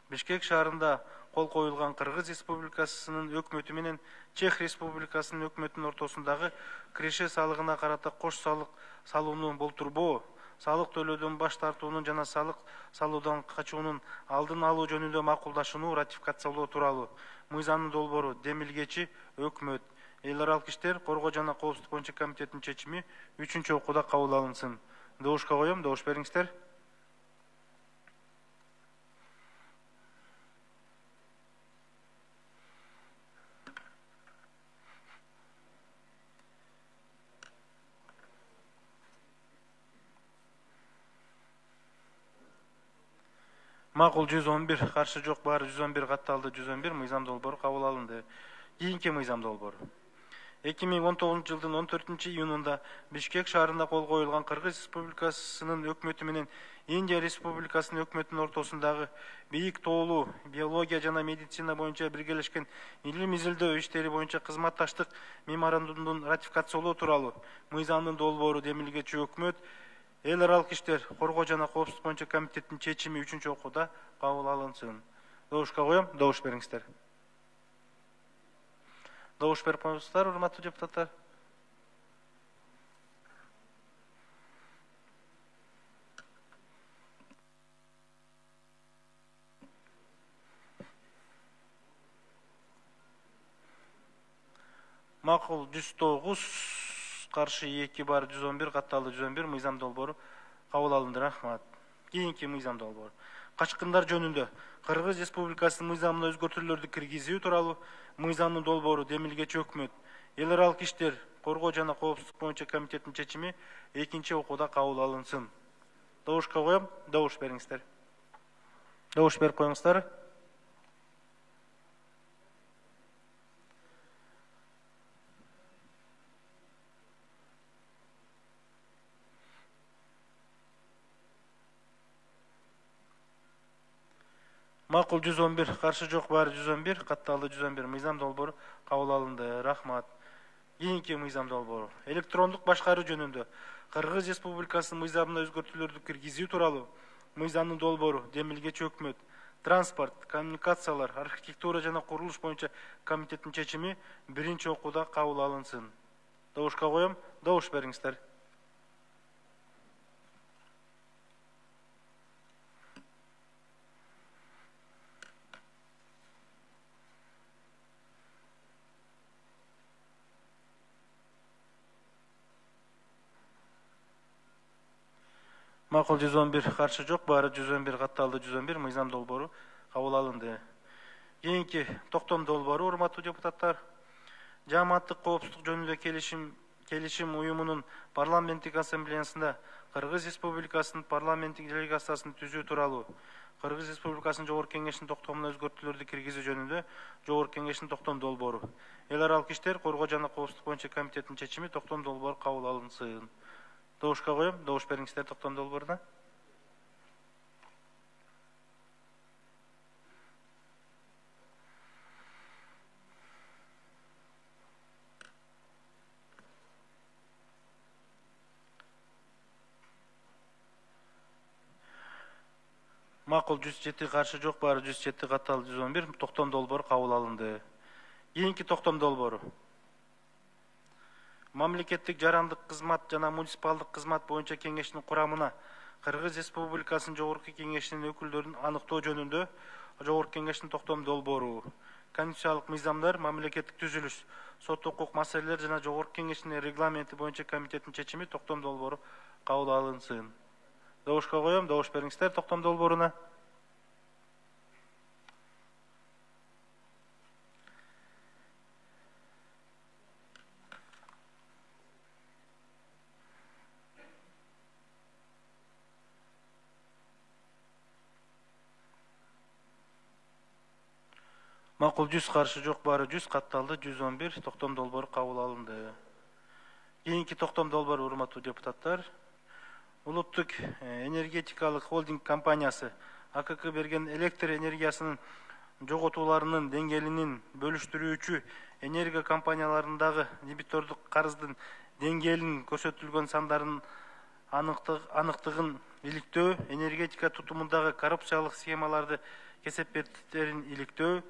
Бишкек шаарында кол коюлган Кыргыз Республикасынын өкмөтү менен Чех Республикасынын өкмөтүнүн ортосундагы киреше салыгына карата кош салык салууну болтурбоо, салык төлөөдөн баш тартуунун жана салык салуудан качуунун алдын алуу жөнүндө макулдашууну ратификациялоо тууралуу мыйзамдын долбоору демилгечи өкмөт, эл аралык иштер, коргоо жана коопсуздук боюнча комитетинин чечими үчүнчү окууда кабыл алынсын. Добушка коем, добуш бериңиздер. Макул жүз он бир, каршы жок, баары жүз он бир, катталды жүз он бир. Мыйзам долбоору кабыл алынды. Кийинки мыйзам долбоору эки миң он тогузунчу жылдын он төртүнчү июнунда Бишкек шаарында кол коюлган Кыргыз Республикасынын өкмөтү менен Индия Республикасынын өкмөтүнүн ортосундагы бийик тоолуу биология жана медицина боюнча биргелешкен илим изилдөө иштери боюнча кызматташтык меморандумдун ратификациялоо тууралуу мыйзамдын долбоору демилгечи өкмөт, эл аралык иштер, коргоо жана коопсуздук боюнча комитетинин чечими үчүнчү окууда кабыл алынсын. Добушка коем, добуш бериңиздер. Добуш берип коюңуздар, урматтуу депутаттар. Макул жүз тогуз, каршы эки, бар жүз он бир, катталды жүз он бир. Мыйзам долбоору кабыл алынды. Рахмат. Кийинки мыйзам долбоору качкындар жөнүндө Кыргыз Республикасынын мыйзамына өзгөртүүлөрдү киргизүү тууралуу мыйзамдын долбоору демилгечи өкмөт, эл аралык иштер, коргоо жана коопсуздук боюнча комитетинин чечими экинчи окууда кабыл алынсын. Добушка коем, добуш бериңиздер. Добуш берип коюңуздар. Макул жүз он бир, каршы жок, баары жүз он бир, катталды жүз он бир. Мыйзам долбоору кабыл алынды. Рахмат. Кийинки мыйзам долбоору электрондук башкаруу жөнүндө Кыргыз Республикасынын мыйзамына өзгөртүүлөрдү киргизүү тууралуу мыйзамдын долбоору демилгечи өкмөт, транспорт, коммуникациялар, архитектура жана курулуш боюнча комитетинин чечими биринчи окууда кабыл алынсын. Добушка коем, добуш бериңиздер. Макул жүз он бир, каршы жок, баары жүз он бир, катталды жүз он бир. Мыйзам долбоору кабыл алынды. Кийинки токтом долбоору, урматтуу депутаттар, жааматтык коопсуздук жөнүндө келишим келишим уюмунун парламенттик ассамблеясында Кыргыз Республикасынын парламенттик делегациясын түзүү тууралуу Кыргыз Республикасынын Жогорку Кеңешинин токтомуна өзгөртүүлөрдү киргизүү жөнүндө Жогорку Кеңештин токтом долбоору, эл аралык иштер, коргоо жана коопсуздук боюнча комитетинин чечими токтом долбоору кабыл алынсын. Добушка коем, добуш бериңиздер токтом долбооруна. Макул жүз жети, каршы жок, баары жүз жети, катталды жүз он бир. Токтом долбоору кабыл алынды. Кийинки токтом долбоору мамлекеттик жарандык кызмат жана муниципалдык кызмат боюнча кеңештин курамына Кыргыз Республикасынын Жогорку Кеңешинин өкүлдөрүн аныктоо жөнүндө Жогорку Кеңештин токтом долбоору, конституциялык мыйзамдар, мамлекеттик түзүлүш, сот укук маселелер жана Жогорку Кеңешинин регламенти боюнча комитетинин чечими токтом долбоору кабыл алынсын. Добушка коем, добуш бериңиздер токтом долбооруна. Макул жүз, каршы жок, баары жүз, катталды жүз он бир. Токтом долбоору кабыл алынды. Кийинки токтом долбоору, урматтуу депутаттар, улуттук энергетикалык холдинг компаниясы А К К берген электр энергиясынын жоготууларынын деңгээлинин бөлүштүрүүчү энергия компанияларындагы дебитордук карыздын деңгээлин көрсөтүлгөн сандардын аныктыгын иликтөө, энергетика тутумундагы коррупциялык схемаларды кесепеттерин иликтөө,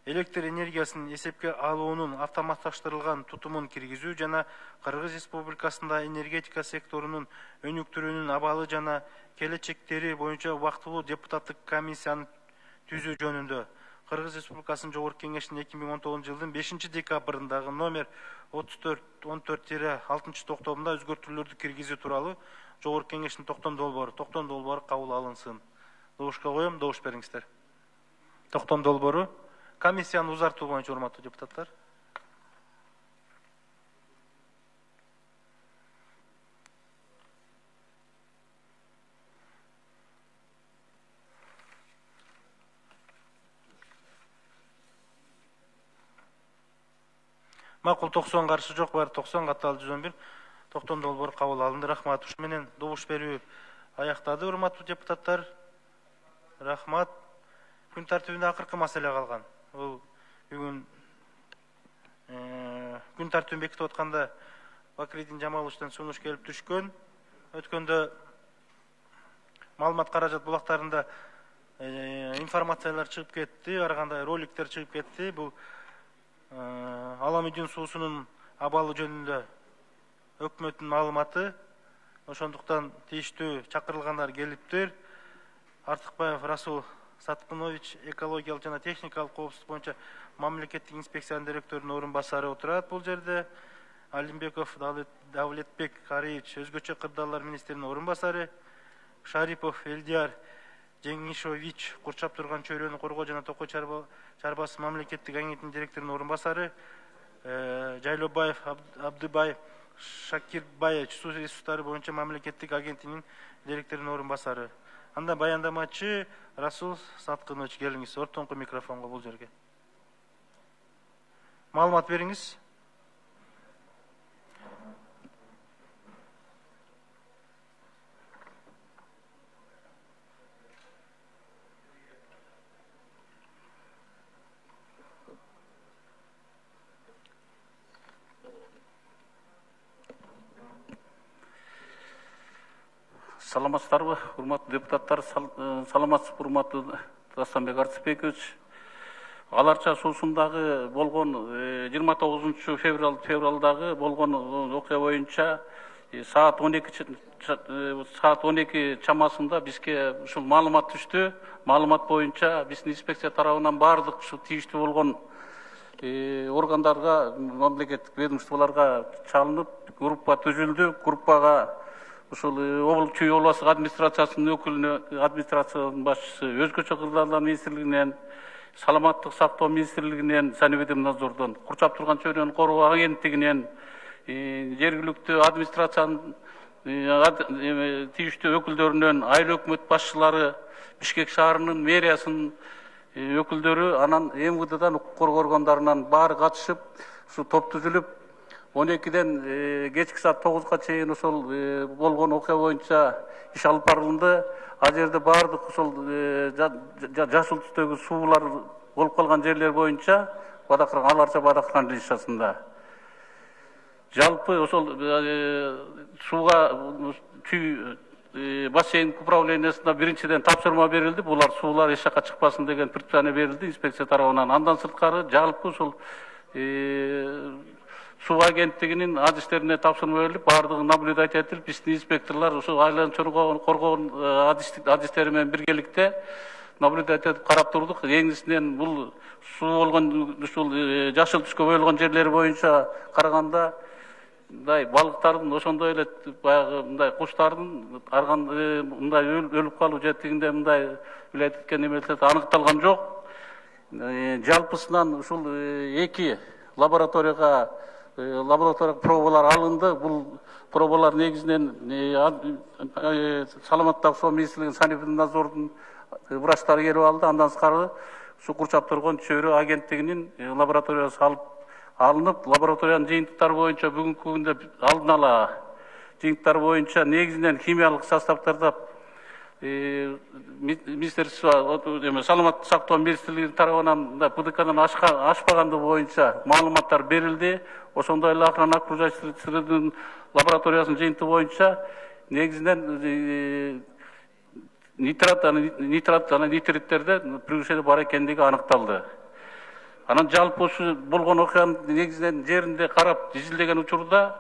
электр энергиясын эсепке алуунун автоматташтырылган тутумун киргизүү жана Кыргыз Республикасында энергетика секторунун өнүктүрүүнүн абалы жана келечектери боюнча убактылуу депутаттык комиссияны түзүү жөнүндө Кыргыз Республикасынын Жогорку Кеңешинин эки миң он тогузунчу жылдын бешинчи декабрындагы номер отуз төрт он төрт алтынчы токтомунда өзгөртүүлөрдү киргизүү тууралуу Жогорку Кеңештин токтом долбоору токтом долбоору кабыл алынсын. Добушка коем, добуш бериңиздер. Токтом долбоору комиссияны узартуу боюнча, урматтуу депутаттар. Макул токсон, каршы жок, баары токсон, катталды жүз он бир. Токтом долбоору кабыл алынды. Рахмат. Ушу менен добуш берүү аяктады, урматтуу депутаттар. Рахмат. Күн тартибинде акыркы маселе калган. Бул бүгүн күн тартибин бекитип атканда Бакирдин Жамаловичтен сунуш келип түшкөн. Өткөндө маалымат каражат булактарында информациялар чыгып кетти, ар кандай роликтер чыгып кетти. Бул Аламүйдүн суусунун абалы жөнүндө өкмөттүн маалыматы. Ошондуктан тийиштүү чакырылгандар келиптир. Артыкбаев Расул Саткынович экологиялык жана техникалык коопсуздук боюнча мамлекеттик инспекциянын директорунун орун басары отурат бул жерде. Алимбеков Давлетбек Кариевич өзгөчө кырдаалар министринин орун басары. Шарипов Элдияр Жеңишович курчап турган чөйрөнү коргоо жана токой чарбасы мамлекеттик агенттигинин директорунун орун басары. Жайлобаев Абдыбай Шакирбаевич суу ресурстары боюнча мамлекеттик агенттигинин директорунун орун басары. Анда баяндамачы Расул Саткынович, келиңиз ортоңку микрофонго бул жерге. Маалымат бериңиз. Саламатсыздарбы, урматтуу депутаттар, саламатсызбы, урматтуу Дастанбек Арцыбекович. Аларча суусундагы болгон жыйырма тогузунчу февралдагы болгон окуя боюнча саат он эки чамасында бизге ушул маалымат түштү. Маалымат боюнча биздин инспекция тарабынан баардык ушу тийиштүү болгон органдарга, мамлекеттик ведомстволорго чалынып, группа түзүлдү. Группага ушул Чүй областык администрациясынын өкүлүнө, администрациянын башчысы, өзгөчө кырдаалдар министрлигинен, саламаттык сактоо министрлигинен, санэпидемнадзордон, курчап турган чөйрөнү коргоо агенттигинен, жергиликтүү администрациянын тийиштүү өкүлдөрүнөн, айыл өкмөт башчылары, Бишкек шаарынын мэриясынын өкүлдөрү, анан эм вэ дэдан укук коргоо органдарынан баары катышып, ушу топ түзүлүп, он экиден кечки саат тогузга чейин ошол болгон окуя боюнча иш алып барылды. Ал жерде баардык ошол жашыл түстөгү суулар болуп калган жерлер боюнча Бадакыран, Аларча Бадакыран лишасында. Жалпы ошол сууга Чүй бассейн управлениясына биринчиден тапшырма берилди. Булар суулар эч жакка чыкпасын деген предписание берилди инспекция тарабынан. Андан сырткары жалпы ошол суу агенттигинин адистерине тапшырма берилип, баардыгы наблюдать этилип, биздин инспекторлор ошол айланчылык коргоо адистери менен биргеликте наблюдать этип карап турдук. Негизинен бул суу болгон ушул жашыл түскө боелгон жерлери боюнча караганда мындай балыктардын, ошондой эле баягы мындай куштардын арган мындай өлүп калуу жетигинде мындай билет эткен немелер аныкталган жок. Жалпысынан ушул эки лабораторияга лаборатория пробалар алынды. Бул пробалар негизинен саламаттык сактоо министрлигинин санэпидемнадзордун врачтары келип алды. Андан сырткары ушу курчап турган чөйрө агенттигинин лабораториясы алып алынып, лабораториянын жыйынтыктары боюнча бүгүнкү күндө алдын ала жыйынтыктар боюнча негизинен химиялык составтарда министерство саламаттык сактоо министрлиги тарабынан да БДКдан ашпаганды боюнча маалыматтар берилди. Ошондой эле охрана окружающих среднын лабораториясынын жыйынтыгы боюнча негизинен нитрат нитрат жана нитриттерде превышение бар экендиги аныкталды. Анан жалпы ушу болгон окуянын негизинен жеринде карап изилдеген учурда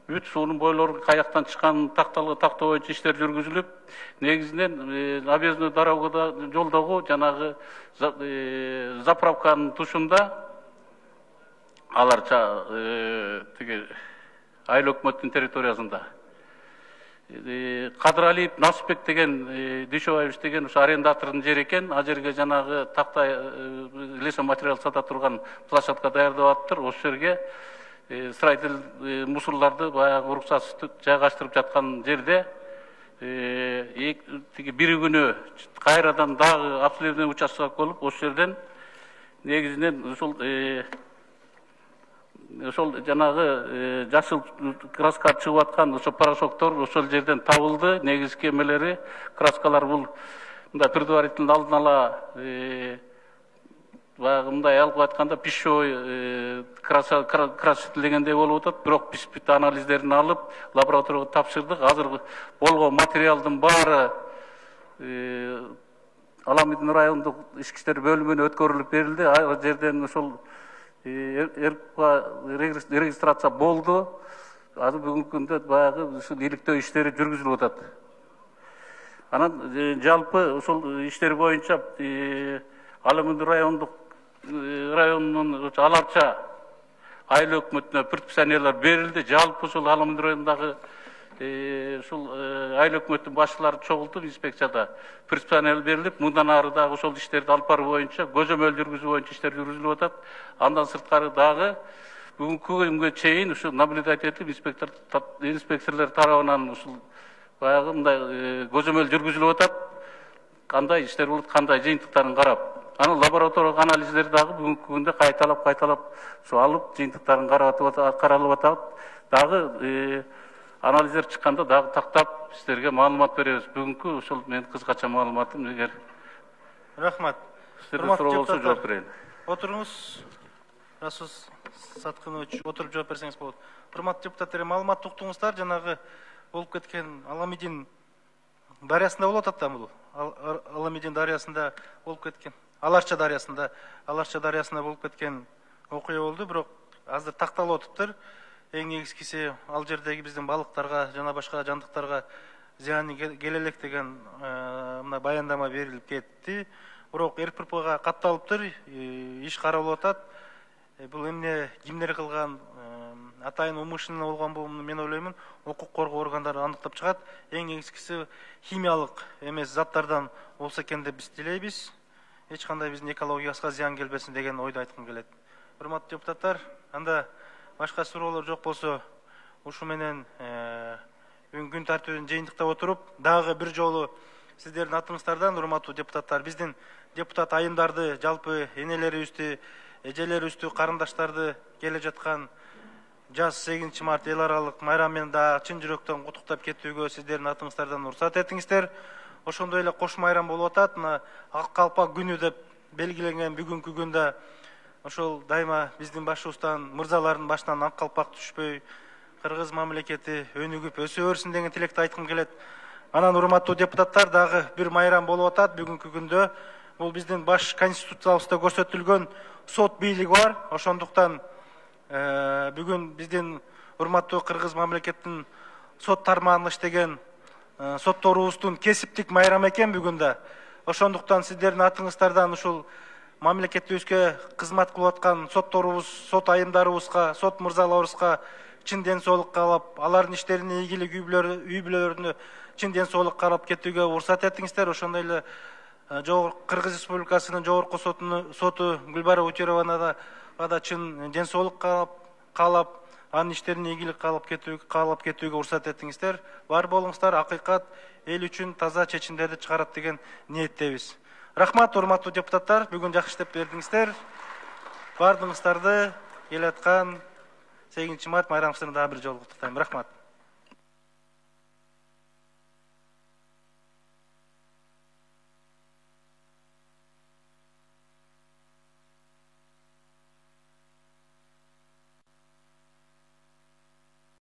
бүт суунун бойлору каяктан чыкканын такталгы тактоо боюнча иштер жүргүзүлүп, негизинен объездной дорогада жолдогу жанагы заправканын тушунда аларча тиги айыл өкмөттүн территориясында Кадыралиев Насипбек деген Дүйшөбаевич деген ушу арендатордун жери экен. Ал жерге жанагы такта лесо материал сата турган площадка даярдап атыптыр. Ошол жерге строитель мусорларды баягы уруксатсыз жайгаштырып жаткан жерде тиги бир күнү кайрадан дагы обследование участок болуп, ошол жерден негизинен ушул ошол жанагы жашыл краска чыгып аткан ошо порошоктор ошол жерден табылды. Негизги эмелери краскалар бул мындай предварительно алдын ала баягы мындай алып айтканда пищевой красителегендей болуп атат. Бирок биз бүт анализдерин алып лабораторияга тапшырдык. Азыр болгон материалдын баары Аламидин райондук ички иштер бөлүмүнө өткөрүлүп берилди. Ал жерден ошол регистрация болду. Азыр бүгүнкү күндө баягы ушул иликтөө иштери жүргүзүлүп атат. Анан жалпы ушул иштер боюнча Аламидин райондук районунун аларча айыл өкмөтүнө предписаниялар берилди. Жалпы ушул Аламидин районундагы ушул айыл өкмөттүн башчылары чогултуп инспекцияда предписаниялар берилип, мындан ары дагы ошол иштерди алып баруу боюнча көзөмөл жүргүзүү боюнча иштер жүргүзүлүп атат. Андан сырткары дагы бүгүнкү күнгө чейин ушул наблюдательдик инспектор инспекторлор тарабынан ушул баягы мындай көзөмөл жүргүзүлүп атат. Кандай иштер болот, кандай жыйынтыктарын карап, анан лабораториялык анализдер дагы бүгүнкү күндө кайталап кайталап ушул алып жыйынтыктарын каралып атат. Дагы анализдер чыкканда дагы тактап сиздерге маалымат беребиз. Бүгүнкү ушул менин кыскача маалыматым. Эгер рахмат. Сиздерде суроо болсо жооп берейин. Отуруңуз. Расус Саткынович, отуруп жооп берсеңиз болот. Урматтуу депутаттар, маалымат уктуңуздар, жанагы болуп кеткен Аламидин дарыясында болуп атат да бул. Аламидин дарыясында болуп кеткен. Аларча дарыясында, Аларча дарыясында болуп кеткен окуя болду, бирок азыр такталып атыптыр. Эң негизгиси ал жердеги биздин балыктарга жана башка жандыктарга зыяны келе элек деген мына баяндама берилип кетти. Бирок РППга катталыптыр, иш каралып атат. Бул эмне кимдер кылган, атайын умышленно болгон бул, мен ойлоймун, укук коргоо органдары аныктап чыгат. Эң негизгиси химиялык эмес заттардан болсо экен деп биз тилейбиз. Эч кандай биздин экологиябызга зыян келбесин деген ойду айткым келет. Урматтуу депутаттар, анда башка суроолор жок болсо, ушу менен бүгүнкү күн тартибин жыйынтыктап отуруп, дагы бир жолу сиздердин атыңыздардан, урматтуу депутаттар, биздин депутат айымдарды, жалпы энелерибизди, эжелерибизди, карындаштарды келе жаткан жаз сегизинчи март эл аралык майрам менен дагы чын жүрөктөн куттуктап кетүүгө сиздердин атыңыздардан уруксат этиңиздер. Ошондой эле кош майрам болуп атат. Мына Ак калпак күнү деп белгиленген бүгүнкү күндө ошол дайыма биздин башыбыздан, мырзалардын башынан ак калпак түшпөй, кыргыз мамлекети өнүгүп өсө берсин деген тилекти айткым келет. Анан урматтуу депутаттар, дагы бир майрам болуп атат бүгүнкү күндө. Бул биздин баш конституциябызда көрсөтүлгөн сот бийлиги бар. Ошондуктан бүгүн биздин урматтуу кыргыз мамлекеттин сот тармагында иштеген сотторубуздун кесиптик майрам экен бүгүн да. Ошондуктан сиздердин атыңыздардан ушул мамлекетибизге кызмат кылып аткан сотторубуз, сот айымдарыбызга, сот мырзаларыбызга чын ден соолук каалап, алардын иштерине ийгилик, үй бүлөлөрүнө чын ден соолук каалап кетүүгө уруксат этиңиздер. Ошондой эле Кыргыз Республикасынын жогорку соту Гүлбара Утерованага да чын ден соолук каалап, анын иштерине ийгилик каалап кетүүгө уруксат этиңиздер. Бар болуңуздар, акыйкат эл үчүн таза чечимдерди чыгарат деген ниеттебиз. Рахмат, урматтуу депутаттар, бүгүн жакшы иштеп бердиңиздер. Бардыгыңыздарды келе аткан сегизинчи март майрамыңызды дагы бир жолу куттуктайм. Рахмат.